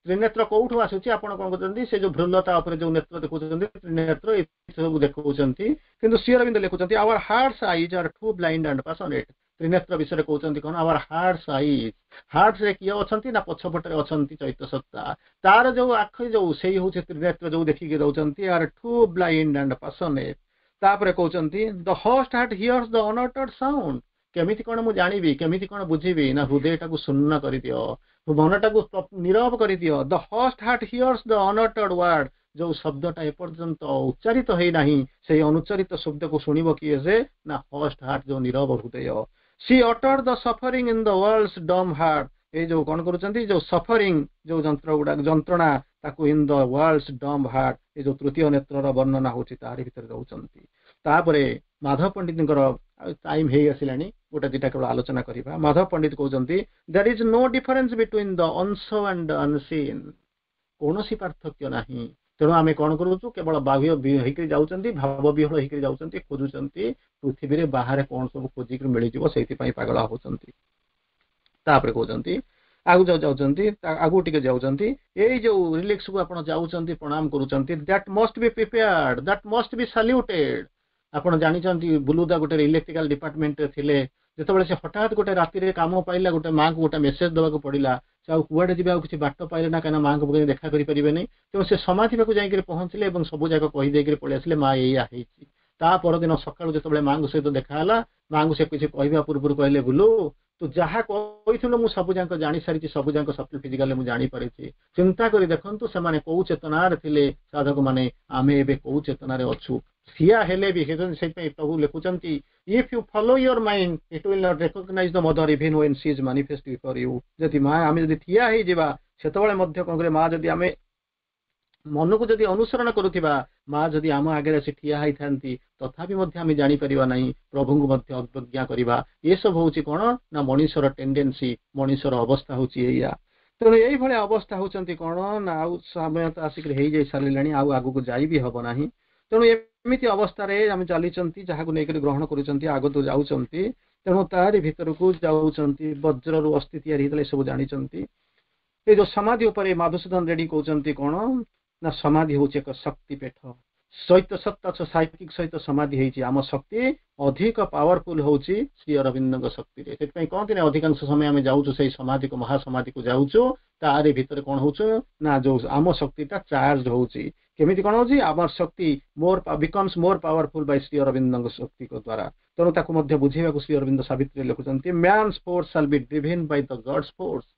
ତ୍ରିନେତ୍ର କୋଉଠୁ ଆସୁଛି? ଆପଣ କଣ କରୁଛନ୍ତି, ସେ ଯୋଉ ଭ୍ରୁଲତା ଉପରେ ଯୋଉ ନେତ୍ର ଦେଖୁଛନ୍ତି, ତ୍ରିନେତ୍ର, ଏ ସବୁ ଦେଖାଉଛନ୍ତି। କିନ୍ତୁ ଶ୍ରୀ ଅରବିନ୍ଦ ଲେଖୁଛନ୍ତି, "Our heart's eyes are too blind and passionate." Trinetra ବିଷୟରେ କହୁଛନ୍ତି କଣ? ଆୱାର ହାର୍ଟସ ଆଇଜ୍, ହାର୍ଟସରେ କିଏ ଅଛନ୍ତି ନା ପଛପଟରେ ଅଛନ୍ତି ଚୈତ୍ୟ ସତ୍ତା, ତାର ଯୋଉ ଆଖି ଯୋଉ, ସେଇ ହଉଛି ତ୍ରିନେତ୍ର, ଯୋଉ ଦେଖିକି ରହୁଛନ୍ତି, are too blind and passionate. ତାପରେ କହୁଛନ୍ତି, "The hushed heart hears the unuttered sound." କେମିତି କଣ ମୁଁ ଜାଣିବି, କେମିତି କଣ ବୁଝିବି? ନା, ହୃଦୟଟାକୁ ଶୂନ୍ୟ କରିଦିଅ, ମନଟାକୁ ନିରବ କରିଦିଅ। "The hushed heart hears the unuttered word." ଯୋଉ ଶବ୍ଦଟା ଏପର୍ଯ୍ୟନ୍ତ ଉଚ୍ଚାରିତ ହେଇନାହିଁ, ସେଇ ଅନୁଚ୍ଚାରିତ ଶବ୍ଦକୁ ଶୁଣିବ କିଏ ସେ? ନା, ହଷ୍ଟ ହାର୍ଟ, ଯୋଉ ନିରବ ହୃଦୟ। "She uttered the suffering in the world's dumb heart." ଏଇ ଯୋଉ କଣ କରୁଛନ୍ତି, ଯୋଉ ସଫରିଂ, ଯୋଉ ଯନ୍ତ୍ର ଗୁଡାକ, ଯନ୍ତ୍ରଣା, ତାକୁ in the world's dumb heart, ଏ ଯୋଉ ତୃତୀୟ ନେତ୍ରର ବର୍ଣ୍ଣନା ହଉଛି, ତାରି ଭିତରେ ରହୁଛନ୍ତି। ତାପରେ ମାଧବ ପଣ୍ଡିତଙ୍କର ଟାଇମ ହେଇ ଆସିଲାଣି, ଗୋଟେ ଦିଟା କେବଳ ଆଲୋଚନା କରିବା। ମାଧବ ପଣ୍ଡିତ କହୁଛନ୍ତି, "There is no difference between the unseen and unseen." କୌଣସି ପାର୍ଥକ୍ୟ ନାହିଁ। ତେଣୁ ଆମେ କଣ କରୁଛୁ? କେବଳ ବାହ୍ୟ ହେଇକରି ଯାଉଛନ୍ତି, ଭାବ ବିହ୍ୱଳ ହେଇକରି ଯାଉଛନ୍ତି, ଖୋଜୁଛନ୍ତି ପୃଥିବୀରେ ବାହାରେ କଣ ସବୁ ଖୋଜିକରି ମିଳିଯିବ, ସେଇଥିପାଇଁ ପାଗଳ ହଉଛନ୍ତି। ତାପରେ କହୁଛନ୍ତି, ଆଗକୁ ଯୋଉ ଯାଉଛନ୍ତି, ଆଗକୁ ଟିକେ ଯାଉଛନ୍ତି, ଏଇ ଯୋଉ ରିଲିକ୍ସକୁ ଆପଣ ଯାଉଛନ୍ତି, ପ୍ରଣାମ କରୁଛନ୍ତି, "That must be prepared, that must be saluted." ଆପଣ ଜାଣିଛନ୍ତି, ବୁଲୁଦା ଗୋଟେ ଇଲେକ୍ଟ୍ରିକାଲ ଡିପାର୍ଟମେଣ୍ଟରେ ଥିଲେ। ଯେତେବେଳେ ସେ ହଠାତ୍ ଗୋଟେ ରାତିରେ କାମ ପାଇଲା, ଗୋଟେ ମାଙ୍କୁ ଗୋଟେ ମେସେଜ ଦେବାକୁ ପଡିଲା, ସେ ଆଉ କୁଆଡେ ଯିବେ, ଆଉ କିଛି ବାଟ ପାଇଲେ ନା, କାହିଁକିନା ମାଙ୍କ ପାଖରେ ଦେଖା କରିପାରିବେନି। ତେଣୁ ସେ ସମାଧି ପାଖକୁ ଯାଇକରି ପହଞ୍ଚିଲେ ଏବଂ ସବୁ ଯାକ କହିଦେଇକରି ପଳେଇ ଆସିଲେ, ମା, ଏଇଆ ହେଇଛି। ତା ପରଦିନ ସକାଳୁ ଯେତେବେଳେ ମାଙ୍କ ସହିତ ଦେଖା ହେଲା, ମାଙ୍କୁ ସେ କିଛି କହିବା ପୂର୍ବରୁ କହିଲେ, ବୁଲୁ, ତୁ ଯାହା କହିଥିଲୁ ମୁଁ ସବୁ ଯାକ ଜାଣି ସାରିଛି, ସବୁ ଯାକ ସବଲ ଫିଜିକାଲରେ ମୁଁ ଜାଣିପାରିଛି। ଚିନ୍ତା କରି ଦେଖନ୍ତୁ, ସେମାନେ କୋଉ ଚେତନାରେ ଥିଲେ ସାଧକ ମାନେ, ଆମେ ଏବେ କୋଉ ଚେତନାରେ ଅଛୁ। ଠିଆ ହେଲେ ବି ସେଇଥିପାଇଁ ପ୍ରଭୁ ଲେଖୁଛନ୍ତି, "If you follow your mind, it will not recognize the Mother even when she is manifest before you." ଯଦି ମା, ଆମେ ଯଦି ଠିଆ ହେଇଯିବା, ସେତେବେଳେ ମଧ୍ୟ କଣ କରିବେ ମା, ଯଦି ଆମେ ମନକୁ ଯଦି ଅନୁସରଣ କରୁଥିବା, ମା ଯଦି ଆମ ଆଗରେ ଆସି ଠିଆ ହେଇଥାନ୍ତି, ତଥାପି ମଧ୍ୟ ଆମେ ଜାଣିପାରିବା ନାହିଁ, ପ୍ରଭୁଙ୍କୁ ମଧ୍ୟ ଅବଜ୍ଞା କରିବା। ଏସବୁ ହଉଛି କଣ ନା ମଣିଷର ଟେଣ୍ଡେନ୍ସି, ମଣିଷର ଅବସ୍ଥା ହଉଛି ଏଇଆ। ତେଣୁ ଏଇଭଳିଆ ଅବସ୍ଥା ହଉଛନ୍ତି କଣ ନା, ଆଉ ସମୟ ତ ଆସିକରି ହେଇଯାଇ ସାରିଲାଣି, ଆଉ ଆଗକୁ ଯାଇ ବି ହବ ନାହିଁ। ତେଣୁ ଏମିତି ଅବସ୍ଥାରେ ଆମେ ଚାଲିଛନ୍ତି, ଯାହାକୁ ନେଇକରି ଗ୍ରହଣ କରୁଛନ୍ତି, ଆଗକୁ ଯାଉଛନ୍ତି। ତେଣୁ ତାରି ଭିତରକୁ ଯାଉଛନ୍ତି। ବଜ୍ରରୁ ଅସ୍ଥି ତିଆରି ହେଇଥିଲା, ଏସବୁ ଜାଣିଛନ୍ତି। ଏ ଯୋଉ ସମାଧି ଉପରେ ମାଧୁସୂଦନ ରେଡ୍ଡି କହୁଛନ୍ତି କଣ ନା, ସମାଧି ହଉଛି ଏକ ଶକ୍ତି ପୀଠ ସହିତ, ସତ୍ତା ସାଇକିକ ସହିତ ସମାଧି ହେଇଛି। ଆମ ଶକ୍ତି ଅଧିକ ପାୱାରଫୁଲ ହଉଛି ଶ୍ରୀ ଅରବିନ୍ଦଙ୍କ ଶକ୍ତିରେ। ସେଥିପାଇଁ କହନ୍ତି ନା, ଅଧିକାଂଶ ସମୟ ଆମେ ଯାଉଛୁ ସେଇ ସମାଧିକୁ, ମହାସମାଧିକୁ ଯାଉଛୁ, ତାରି ଭିତରେ କଣ ହଉଛୁ ନା, ଯୋଉ ଆମ ଶକ୍ତିଟା ଚାର୍ଜ ହଉଛି। କେମିତି କଣ ହଉଛି? ଆମର ଶକ୍ତି more becomes more powerful by Shri ଅରବିନ୍ଦଙ୍କ ଶକ୍ତିଙ୍କ ଦ୍ୱାରା। ତେଣୁ ତାକୁ ମଧ୍ୟ ବୁଝେଇବାକୁ ଶ୍ରୀ ଅରବିନ୍ଦ ସାବିତ୍ରୀ ଲେଖୁଛନ୍ତି, "Man's force shall be driven by the God's force."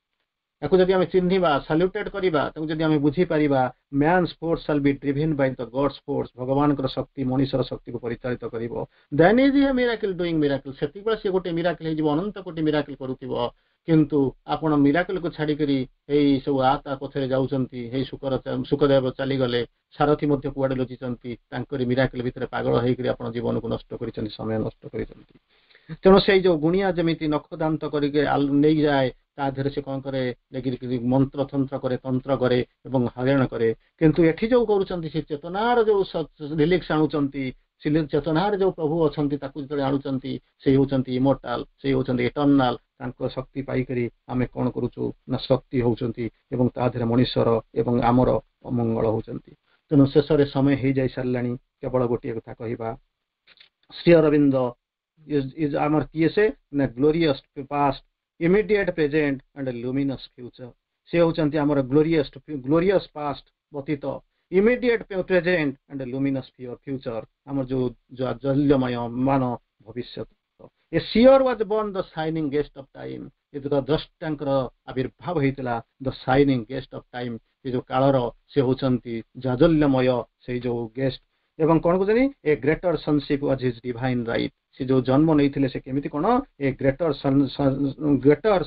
ତାକୁ ଯଦି ଆମେ ଚିହ୍ନିବା, ସାଲ୍ୟୁଟେଡ୍ କରିବା, ତାକୁ ଯଦି ଆମେ ବୁଝିପାରିବା, "Man's force shall be driven by the God's force." ଭଗବାନଙ୍କର ଶକ୍ତି ମଣିଷର ଶକ୍ତିକୁ ପରିଚାଳିତ କରିବ। "Then is a miracle doing miracle." ସେତିକିବେଳେ ସେ ଗୋଟେ ମିରାକିଲ୍ ହେଇଯିବ, ଅନନ୍ତ କୋଟି ମିରାକିଲ୍ କରୁଥିବ। କିନ୍ତୁ ଆପଣ ମିରାକିଲକୁ ଛାଡିକରି ଏଇ ସବୁ ଆ ତା ପଛରେ ଯାଉଛନ୍ତି। ଏଇ ଶୁକର ଶୁକଦେବ ଚାଲିଗଲେ, ସାରଥୀ ମଧ୍ୟ କୁଆଡେ ଲୁଚିଛନ୍ତି। ତାଙ୍କରି ମିରାକିଲ ଭିତରେ ପାଗଳ ହେଇକରି ଆପଣ ଜୀବନକୁ ନଷ୍ଟ କରିଛନ୍ତି, ସମୟ ନଷ୍ଟ କରିଛନ୍ତି। ତେଣୁ ସେଇ ଯୋଉ ଗୁଣିଆ ଯେମିତି ନଖ ଦାନ୍ତ କରିକି ନେଇଯାଏ, ତା ଦେହରେ ସେ କଣ କରେ, ନେଇକିରି ମନ୍ତ୍ର ତନ୍ତ୍ର କରେ, ତନ୍ତ୍ର କରେ ଏବଂ ହଇରାଣ କରେ। କିନ୍ତୁ ଏଠି ଯୋଉ କରୁଛନ୍ତି, ସେ ଚେତନାର ଯୋଉ ରିଲିକ୍ସ ଆଣୁଛନ୍ତି, ସେ ଚେତନାରେ ଯୋଉ ପ୍ରଭୁ ଅଛନ୍ତି, ତାକୁ ଯେତେବେଳେ ଆଣୁଛନ୍ତି, ସେ ହେଉଛନ୍ତି ଇମୋର୍ଟାଲ, ସେ ହେଉଛନ୍ତି ଇଟର୍ନାଲ। ତାଙ୍କ ଶକ୍ତି ପାଇକରି ଆମେ କଣ କରୁଛୁ ନା, ଶକ୍ତି ହଉଛନ୍ତି ଏବଂ ତା ଦେହରେ ମଣିଷର ଏବଂ ଆମର ଅମଙ୍ଗଳ ହଉଛନ୍ତି। ତେଣୁ ଶେଷରେ ସମୟ ହେଇଯାଇ ସାରିଲାଣି, କେବଳ ଗୋଟିଏ କଥା କହିବା। ଶ୍ରୀ ଅରବିନ୍ଦ is ଆମର କିଏ ସେ ନା, glorious past, immediate present and luminous future. ସେ ହେଉଛନ୍ତି ଆମର ଗ୍ଲୋରିୟସ୍ ପାଷ୍ଟ, ଅତୀତ, immediate present and luminous future, ଆମର ଯୋଉ ଜାଜ୍ୱଲ୍ୟମୟ ମାନ ଭବିଷ୍ୟତ। "A seer was born, the shining guest of time." ଏ ଯୋଉ ଦ୍ରଷ୍ଟାଙ୍କର ଆବିର୍ଭାବ ହେଇଥିଲା, the shining guest of time, ଏ ଯୋଉ କାଳର ସେ ହଉଛନ୍ତି ଜାଜ୍ୱଲ୍ୟମୟ ସେଇ ଯୋଉ ଗେଷ୍ଟ। ଏବଂ କଣ କହୁଛନ୍ତି? "A greater sonship was his divine right." ସେ ଯୋଉ ଜନ୍ମ ନେଇଥିଲେ, ସେ କେମିତି କଣ? "A greater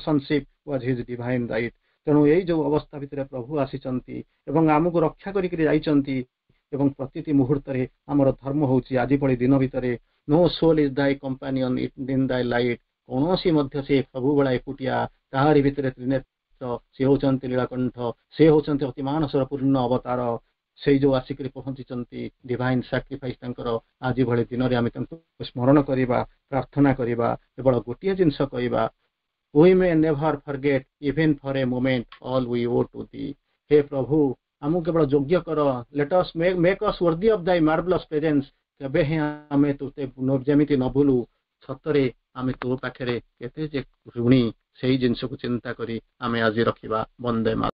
sonship was his divine right." ତେଣୁ ଏଇ ଯୋଉ ଅବସ୍ଥା ଭିତରେ ପ୍ରଭୁ ଆସିଛନ୍ତି ଏବଂ ଆମକୁ ରକ୍ଷା କରିକିରି ଯାଇଛନ୍ତି ଏବଂ ପ୍ରତିଟି ମୁହୂର୍ତ୍ତରେ ଆମର ଧର୍ମ ହଉଛି ଆଜି ଭଳି ଦିନ ଭିତରେ, "No soul is thy companion in thy light." କୌଣସି ମଧ୍ୟ ସେ ସବୁବେଳେ ଏକୁଟିଆ। ତାହାରି ଭିତରେ ତ୍ରିନେତ୍ର, ସେ ହଉଛନ୍ତି ନୀଳକଣ୍ଠ, ସେ ହଉଛନ୍ତି ଅତିମାନସର ପୂର୍ଣ୍ଣ ଅବତାର। ସେଇ ଯୋଉ ଆସିକରି ପହଞ୍ଚିଛନ୍ତି, ଡିଭାଇନ ସାକ୍ରିଫାଇସ୍ ତାଙ୍କର, ଆଜି ଭଳି ଦିନରେ ଆମେ ତାଙ୍କୁ ସ୍ମରଣ କରିବା, ପ୍ରାର୍ଥନା କରିବା। କେବଳ ଗୋଟିଏ ଜିନିଷ କହିବା, "We may never forget even for a moment all we owe to thee." ହେ ପ୍ରଭୁ, ଆମକୁ କେବଳ ଯୋଗ୍ୟ କର। "Let us make us worthy of thy marvellous presence." କେବେ ହିଁ ଆମେ ତୋତେ ଯେମିତି ନ ଭୁଲୁ। ସତରେ ଆମେ ତୋ ପାଖରେ କେତେ ଯେ ଋଣୀ, ସେଇ ଜିନିଷକୁ ଚିନ୍ତା କରି ଆମେ ଆଜି ରଖିବା। ବନ୍ଦେ ମା